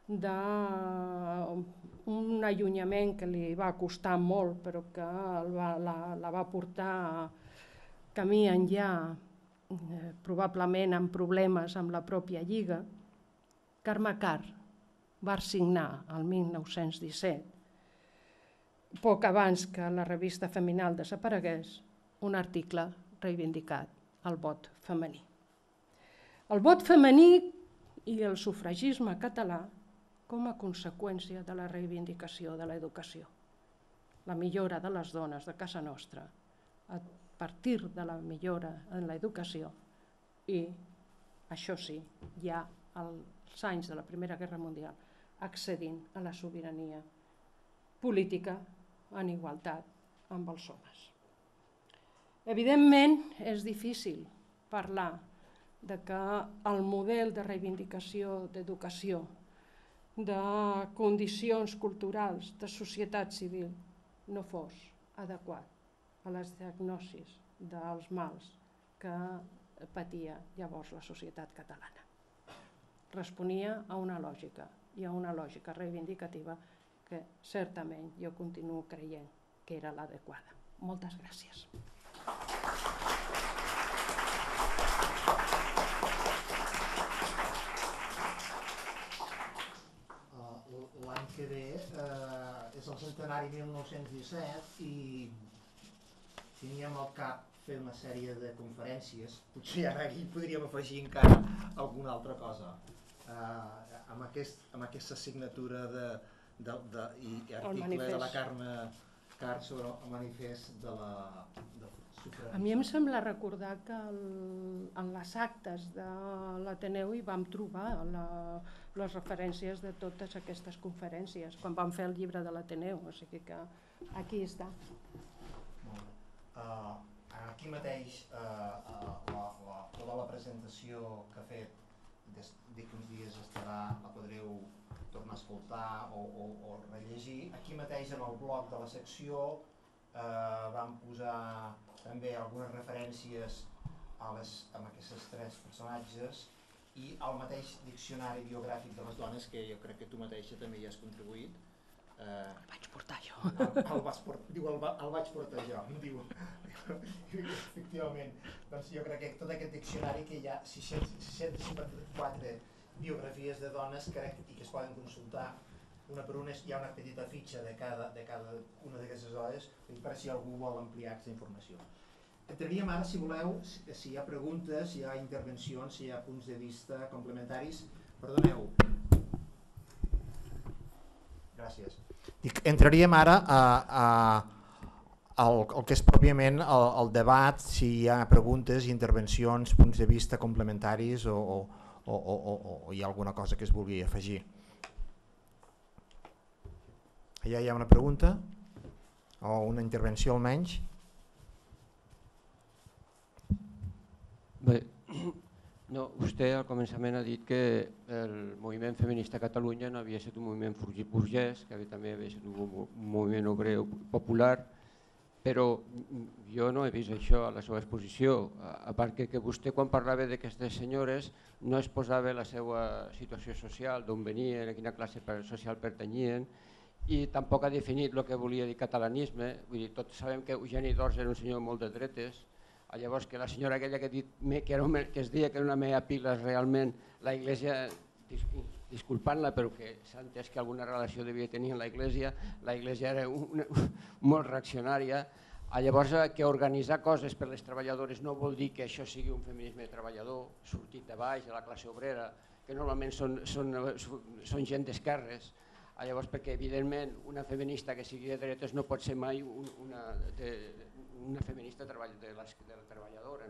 d'un allunyament que li va costar molt però que la va portar camí enllà, probablement amb problemes amb la pròpia Lliga, Carme Karr va signar el 1917, poc abans que la revista Feminal desaparegués, un article reivindicat el vot femení. El vot femení i el sufragisme català com a conseqüència de la reivindicació de l'educació. La millora de les dones de casa nostra a partir de la millora en l'educació i, això sí, ja als anys de la Primera Guerra Mundial, accedint a la sobirania política en igualtat amb els homes. Evidentment, és difícil parlar de que el model de reivindicació d'educació, de condicions culturals, de societat civil, no fos adequat a les diagnosis dels mals que patia llavors la societat catalana. Responia a una lògica i a una lògica reivindicativa que certament jo continuo creient que era l'adequada. Moltes gràcies. L'any que ve és el centenari 1917 i teníem al cap fer una sèrie de conferències, potser ara aquí podríem afegir encara alguna altra cosa. Amb aquesta signatura i article de la Carme Karr sobre el manifest de la sufragista. A mi em sembla recordar que en les actes de l'Ateneu hi vam trobar les referències de totes aquestes conferències, quan vam fer el llibre de l'Ateneu, o sigui que aquí està. Aquí mateix tota la presentació que ha fet, dic uns dies estarà, la podreu tornar a escoltar o rellegir. Aquí mateix en el blog de la secció vam posar també algunes referències a aquests tres personatges i al mateix diccionari biogràfic de les dones, que jo crec que tu mateixa també hi has contribuït. El vaig portar jo. El vaig portar jo, diu. Efectivament, doncs jo crec que tot aquest diccionari, que hi ha 654 biografies de dones, crec, i que es poden consultar una per una, hi ha una petita fitxa de cada una d'aquestes dones, per si algú vol ampliar aquesta informació. Entraríem ara, si voleu, si hi ha preguntes, si hi ha intervencions, si hi ha punts de vista complementaris. Perdoneu. Gràcies. Entraríem ara al que és pròpiament el debat, si hi ha preguntes, intervencions, punts de vista complementaris o hi ha alguna cosa que es vulgui afegir. Allà hi ha una pregunta o una intervenció almenys. Bé, no, vostè al començament ha dit que el moviment feminista a Catalunya no havia estat un moviment burgès, que també havia estat un moviment obrer popular, però jo no he vist això a la seva exposició, a part que vostè quan parlava d'aquestes senyores no es posava la seva situació social, d'on venien, a quina classe social pertanyien, i tampoc ha definit el que volia dir catalanisme. Vull dir, tots sabem que Eugeni d'Ors era un senyor molt de dretes. Llavors que la senyora aquella que es deia que era una mea pilas, realment la Iglesia, disculpant-la però que s'ha entès que alguna relació devia tenir amb la Iglesia era molt reaccionària. Llavors que organitzar coses per les treballadores no vol dir que això sigui un feminisme treballador, sortit de baix, de la classe obrera, que normalment són gent d'esquerres. Llavors perquè evidentment una feminista que sigui de dretes no pot ser mai una feminista de la treballadora.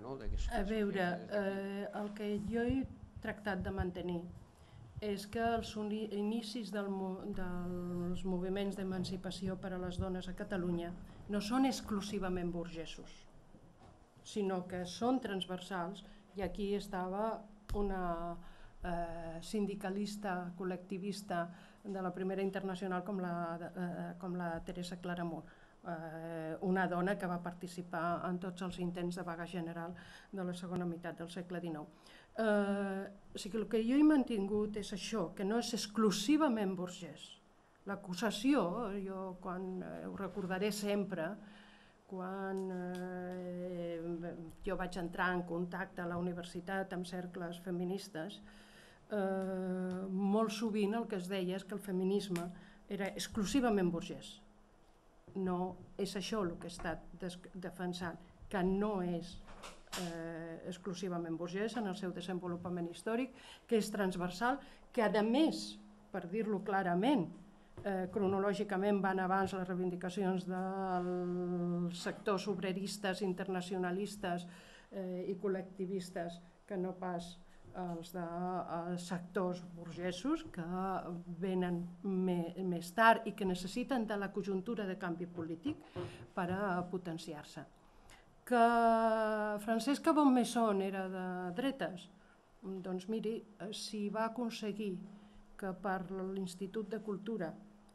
A veure, el que jo he tractat de mantenir és que els inicis dels moviments d'emancipació per a les dones a Catalunya no són exclusivament burgesos, sinó que són transversals, i aquí estava una sindicalista col·lectivista de la Primera Internacional com la Teresa Claramunt, una dona que va participar en tots els intents de vaga general de la segona meitat del segle XIX. O sigui, el que jo he mantingut és això, que no és exclusivament burgès. L'acusació, jo ho recordaré sempre, quan jo vaig entrar en contacte a la universitat amb cercles feministes, molt sovint el que es deia és que el feminisme era exclusivament burgès. No és això el que he estat defensant, que no és exclusivament burgès en el seu desenvolupament històric, que és transversal, que a més, per dir-lo clarament, cronològicament van abans les reivindicacions dels sectors obreristes, internacionalistes i col·lectivistes que no pas els de sectors burgesos que venen més tard i que necessiten de la conjuntura de canvi polític per a potenciar-se. Que Francesca Bonmesson era de dretes, doncs miri, si va aconseguir que per l'Institut de Cultura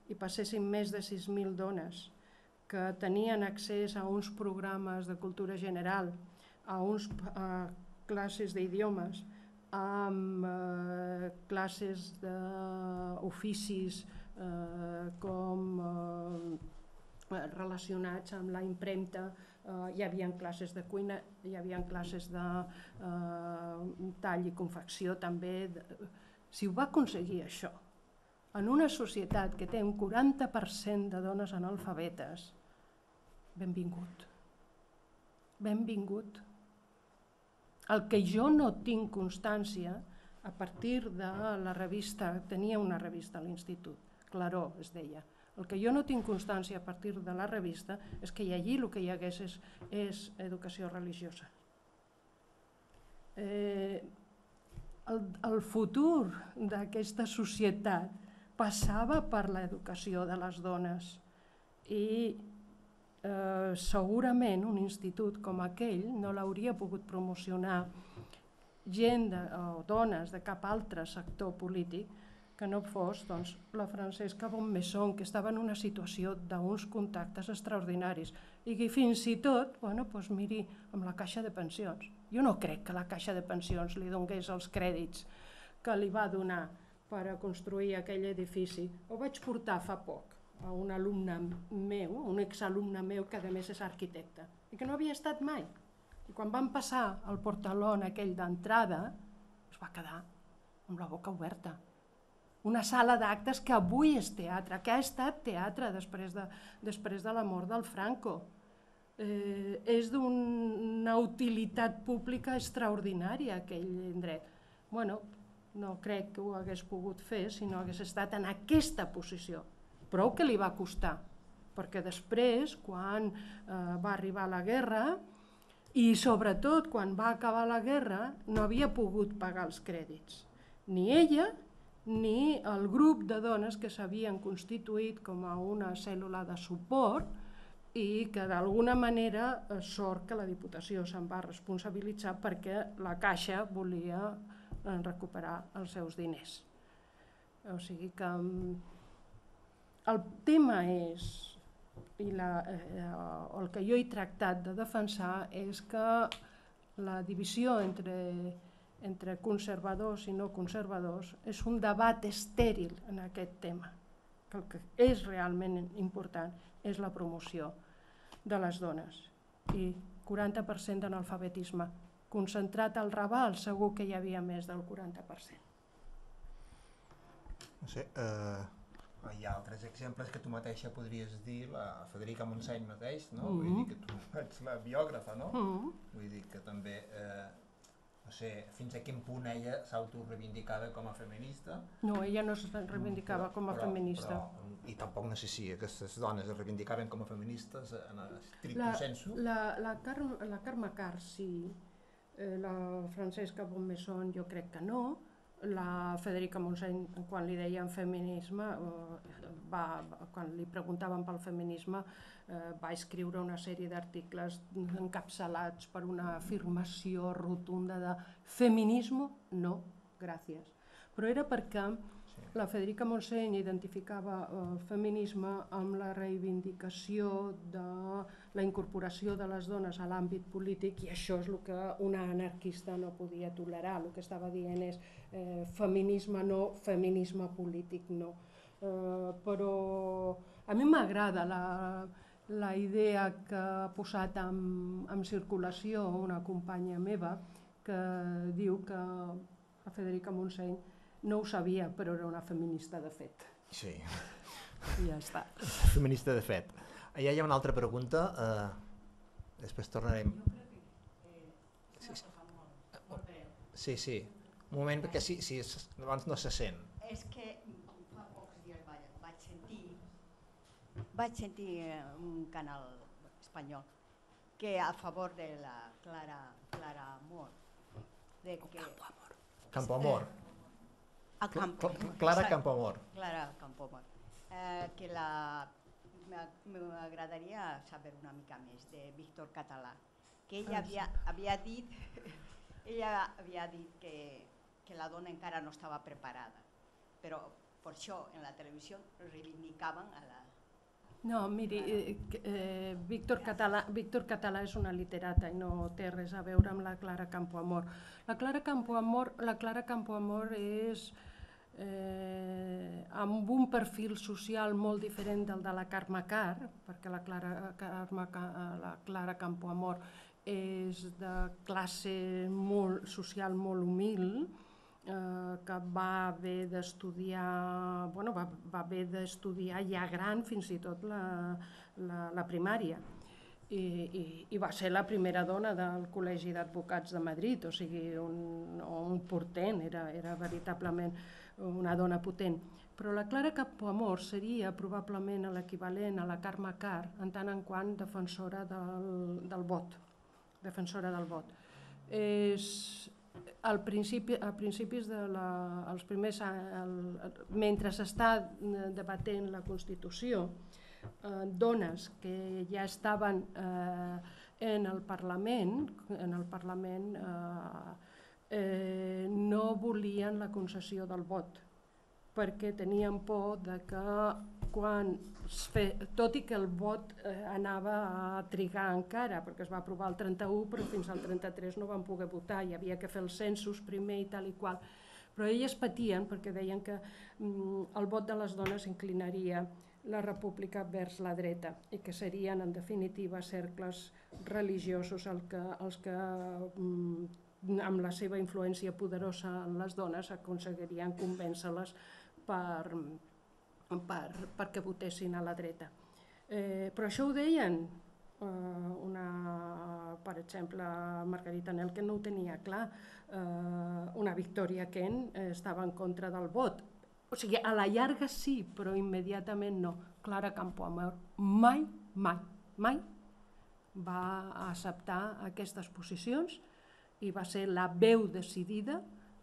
hi passessin més de 6.000 dones que tenien accés a uns programes de cultura general, a uns classes d'idiomes, amb classes d'oficis relacionats amb la impremta, hi havia classes de cuina, hi havia classes de tall i confecció també. Si ho va aconseguir això, en una societat que té un 40% de dones analfabetes, benvingut. Benvingut. El que jo no tinc constància, a partir de la revista, tenia una revista a l'Institut, Claró es deia, el que jo no tinc constància a partir de la revista és que allí el que hi hagués és educació religiosa. El futur d'aquesta societat passava per l'educació de les dones i segurament un institut com aquell no l'hauria pogut promocionar gent o dones de cap altre sector polític que no fos la Francesca Bonmesson, que estava en una situació d'uns contactes extraordinaris i que fins i tot, miri, amb la Caixa de Pensions. Jo no crec que la Caixa de Pensions li donés els crèdits que li va donar per a construir aquell edifici. Ho vaig portar fa poc a un alumne meu, un exalumne meu que a més és arquitecte i que no havia estat mai. I quan van passar el portalón aquell d'entrada es va quedar amb la boca oberta. Una sala d'actes que avui és teatre, que ha estat teatre després de la mort del Franco. És d'una utilitat pública extraordinària aquell indret. No crec que ho hagués pogut fer si no hagués estat en aquesta posició. Prou que li va costar, perquè després, quan va arribar la guerra, i sobretot quan va acabar la guerra, no havia pogut pagar els crèdits. Ni ella, ni el grup de dones que s'havien constituït com a una cèl·lula de suport i que d'alguna manera sort que la Diputació se'n va responsabilitzar perquè la Caixa volia recuperar els seus diners. O sigui que el tema és, i el que jo he tractat de defensar és que la divisió entre conservadors i no conservadors és un debat estèril en aquest tema. El que és realment important és la promoció de les dones i 40% d'analfabetisme. Concentrat al Raval segur que hi havia més del 40%. No sé, hi ha altres exemples que tu mateixa podries dir, la Federica Montseny mateix, no? Vull dir que tu ets la biògrafa, no? Vull dir que també, no sé, fins a quin punt ella s'autoreivindicava com a feminista. No, ella no es reivindicava com a feminista. I tampoc no sé si aquestes dones es reivindicaven com a feministes en estricto sensu. La Carme Karr sí, la Francesca Bonmesson jo crec que no, la Federica Montseny, quan li deien feminisme, quan li preguntaven pel feminisme, va escriure una sèrie d'articles encapçalats per una afirmació rotunda de feminisme, no, gràcies. Però era perquè la Federica Montseny identificava el feminisme amb la reivindicació de la incorporació de les dones a l'àmbit polític i això és el que una anarquista no podia tolerar. El que estava dient és feminisme no, feminisme polític no. Però a mi m'agrada la idea que ha posat en circulació una companya meva que diu que la Federica Montseny no ho sabia, però era una feminista de fet. Sí. I ja està. Feminista de fet. Allà hi ha una altra pregunta, després tornarem. Sí, sí. Un moment, perquè sí, abans no se sent. És que fa pocs dies vaig sentir un canal espanyol que a favor de la Clara Amor. Campoamor. Clara Campoamor. Clara Campoamor. Que m'agradaria saber una mica més de Víctor Català, que ella havia dit que la dona encara no estava preparada, però per això en la televisió reivindicaven a la... No, miri, Víctor Català és una literata i no té res a veure amb la Clara Campoamor. La Clara Campoamor és amb un perfil social molt diferent del de la Carme Karr, perquè la Clara Campoamor és de classe social molt humil, que va haver d'estudiar ja gran fins i tot la primària i va ser la primera dona del Col·legi d'Advocats de Madrid, o sigui, un portent, era veritablement una dona potent. Però la Clara Campoamor seria probablement l'equivalent a la Carme Karr en tant en quant defensora del vot. Als principis mentre s'està debatent la Constitució, dones que ja estaven en el Parlament no volien la concessió del vot, perquè tenien por de que tot i que el vot anava a trigar encara, perquè es va aprovar el 31, però fins al 33 no van poder votar, hi havia que fer els censos primer i tal i qual. Però elles patien perquè deien que el vot de les dones inclinaria la república vers la dreta i que serien, en definitiva, cercles religiosos els que amb la seva influència poderosa en les dones aconseguirien convèncer-les perquè votessin a la dreta. Però això ho deien, per exemple, Margarita Nel, que no ho tenia clar, una Victoria Kent estava en contra del vot. O sigui, a la llarga sí, però immediatament no. Clara Campoamor mai va acceptar aquestes posicions i va ser la veu decidida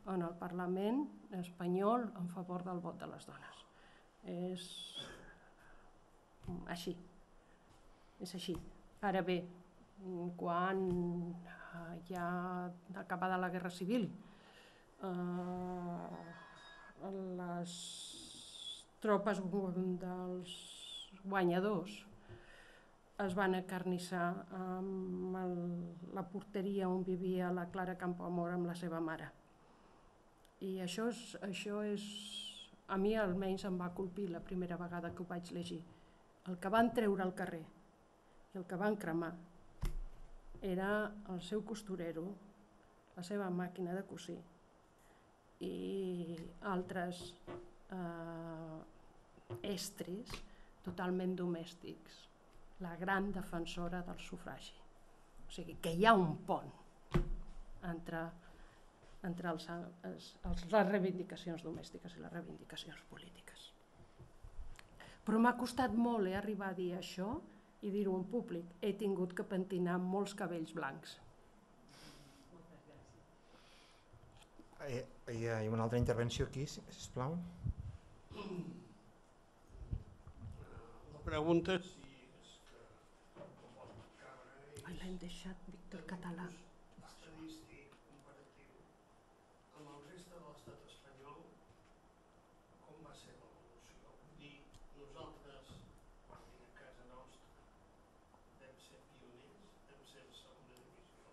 en el Parlament espanyol en favor del vot de les dones. És així. Ara bé, quan ja acabada la Guerra Civil, les tropes dels guanyadors es van acarnissar amb la porteria on vivia la Clara Campoamor amb la seva mare. I això és, a mi almenys em va colpir la primera vegada que ho vaig llegir. El que van treure al carrer i el que van cremar era el seu costurero, la seva màquina de cosir i altres estris totalment domèstics, la gran defensora del sufragi. O sigui, que hi ha un pont entre les reivindicacions domèstiques i les reivindicacions polítiques. Però m'ha costat molt arribar a dir això i dir-ho en públic. He tingut que pentinar molts cabells blancs. Hi ha una altra intervenció aquí, sisplau. La pregunta és si L'hem deixat Víctor Català. estadístic comparatiu amb el reste de l'estat espanyol, com va ser l'evolució? Vull dir, nosaltres, parlant a casa nostra, vam ser pioners, vam ser de segona divisió,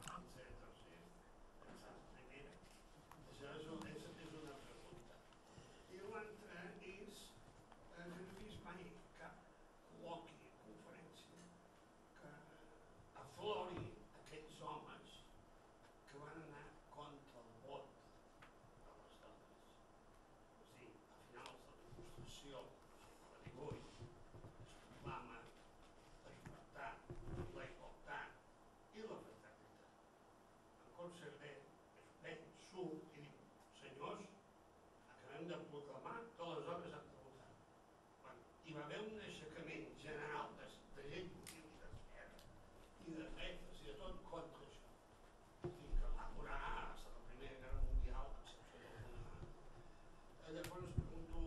vam ser de tercer, vam ser de primera. Això és una pregunta. I l'altra és, jo no he vist mai cap col·loqui, conferència, que aflori aquells homes que van anar contra el vot de les dones. És a dir, a finals de la Constitució del segle XVIII es proclama la llibertat, la igualtat i la fraternitat. En Concerter surt i diu, senyors, acabem de proclamar que les dones han de votar. Hi va haver un aixecament general de gent útil i d'esquerra i de dretes i de tot contra això. I que va durar fins a la Primera Guerra Mundial, a excepció d'alguna. Llavors pregunto,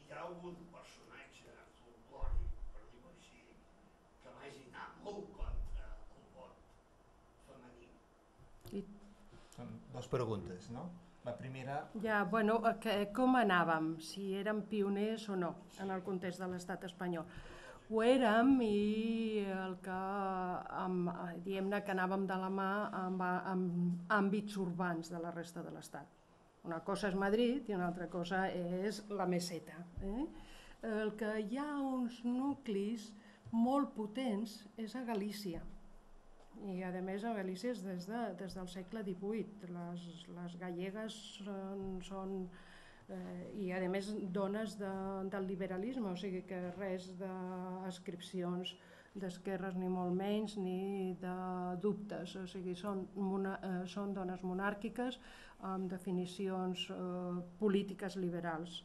hi ha algun personatge folclòric, per dir-ho així, que vagi anar molt contra el vot femení? Són dues preguntes, no? La primera... Ja, bueno, com anàvem? Si érem pioners o no en el context de l'estat espanyol. Ho érem i diguem-ne que anàvem de la mà amb àmbits urbans de la resta de l'estat. Una cosa és Madrid i una altra cosa és la meseta. El que hi ha uns nuclis molt potents és a Galícia. I a més a Galícia és des del segle XVIII. Les gallegues són i a més dones del liberalisme, o sigui que res d'adscripcions d'esquerres ni molt menys ni de dubtes, o sigui són dones monàrquiques amb definicions polítiques liberals.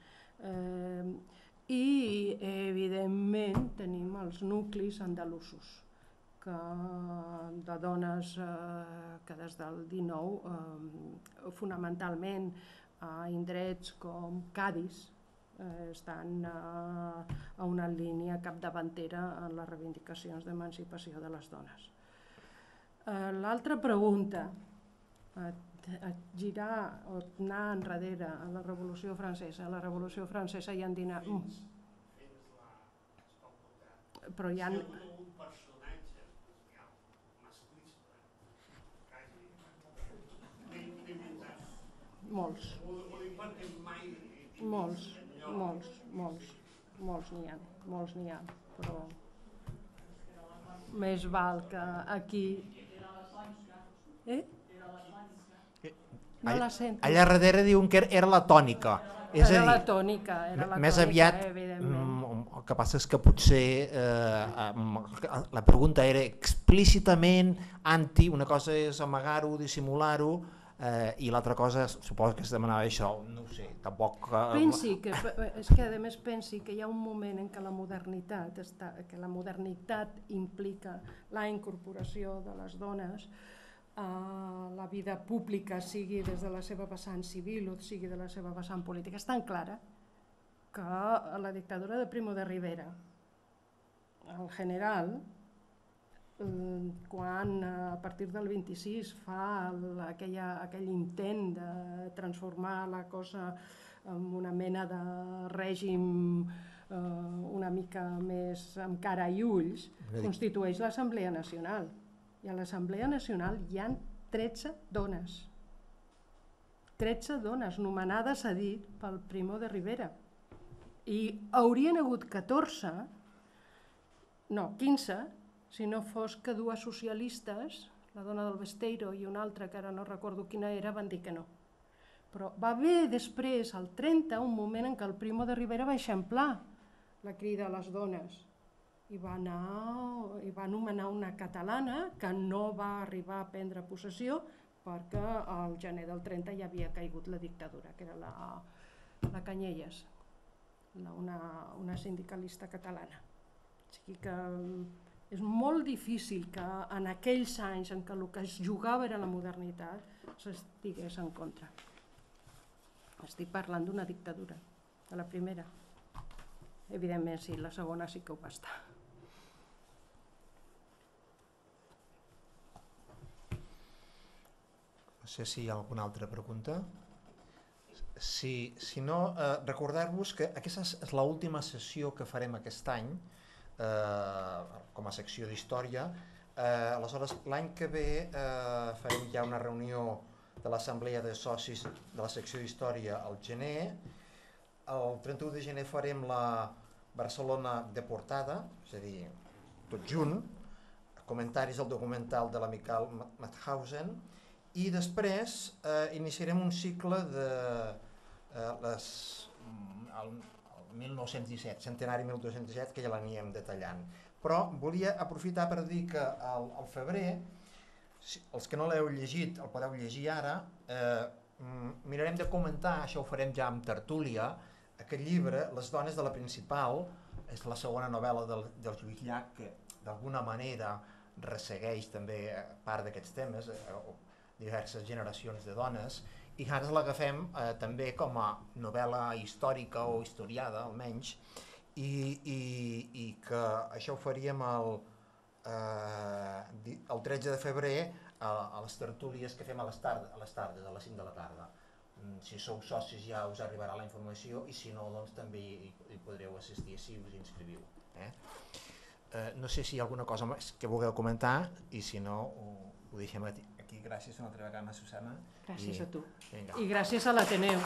I evidentment tenim els nuclis andalusos de dones que des del XIX fonamentalment a indrets com Cadis estan a una línia capdavantera en les reivindicacions d'emancipació de les dones. L'altra pregunta, girar o anar enrere a la Revolució Francesa. A la Revolució Francesa hi han dinat... Però hi ha... un personatge masclista que hagi d'inventar. Molts. O perquè mai... Molts n'hi ha, però més val que aquí... No la sento. Allà darrere diuen que era la tònica. És Era a la dir, tònica, més aviat, evidentment. el que passa és que potser la pregunta era explícitament anti, una cosa és amagar-ho, dissimular-ho, i l'altra cosa suposo que es demanava això, no ho sé, tampoc... És que a més pensi que hi ha un moment en què la modernitat implica la incorporació de les dones a la vida pública, sigui des de la seva vessant civil o sigui de la seva vessant política. És tan clara que a la dictadura de Primo de Rivera, el general, quan a partir del 26 fa aquell intent de transformar la cosa en una mena de règim una mica més amb cara i ulls, constitueix l'Assemblea Nacional. I a l'Assemblea Nacional hi ha 13 dones. 13 dones nomenades a dit pel Primo de Rivera. I haurien hagut 15, si no fos que dues socialistes, la dona del Besteiro i una altra, que ara no recordo quina era, van dir que no. Però va haver després, al 30, un moment en què el Primo de Rivera va eixamplar la crida a les dones i va nomenar una catalana que no va arribar a prendre possessió perquè al gener del 30 ja havia caigut la dictadura, que era la Canyelles, una sindicalista catalana. O sigui que és molt difícil que en aquells anys en què el que es jugava era la modernitat s'estigués en contra. Estic parlant d'una dictadura, de la primera. Evidentment sí, la segona sí que ho va estar. No sé si hi ha alguna altra pregunta. Si no, recordar-vos que aquesta és l'última sessió que farem aquest any com a secció d'història. Aleshores, l'any que ve farem ja una reunió de l'assemblea de socis de la secció d'història al gener. El 31 de gener farem la Barcelona deportada, és a dir, tot junt, comentaris al documental de la Michael Mauthausen, i després iniciarem un cicle de el 1917, centenari 1917, que ja l'anirem detallant. Però volia aprofitar per dir que al febrer, els que no l'heu llegit el podeu llegir ara, mirarem de comentar, això ho farem ja amb tertúlia, aquest llibre, Les dones de la Principal, és la segona novel·la del Lluís Llach, que d'alguna manera ressegueix també part d'aquests temes, diverses generacions de dones, i ara l'agafem també com a novel·la històrica o historiada, almenys, i que això ho faríem el 13 de febrer a les tertúlies que fem a les tardes, a les 5 de la tarda. Si sou socis ja us arribarà la informació i si no, doncs també hi podreu assistir si us inscriviu. No sé si hi ha alguna cosa més que vulgueu comentar i si no ho deixem aquí. Gràcies una altra vegada, Susana. Gràcies a tu. Vinga. I gràcies a l'Ateneu.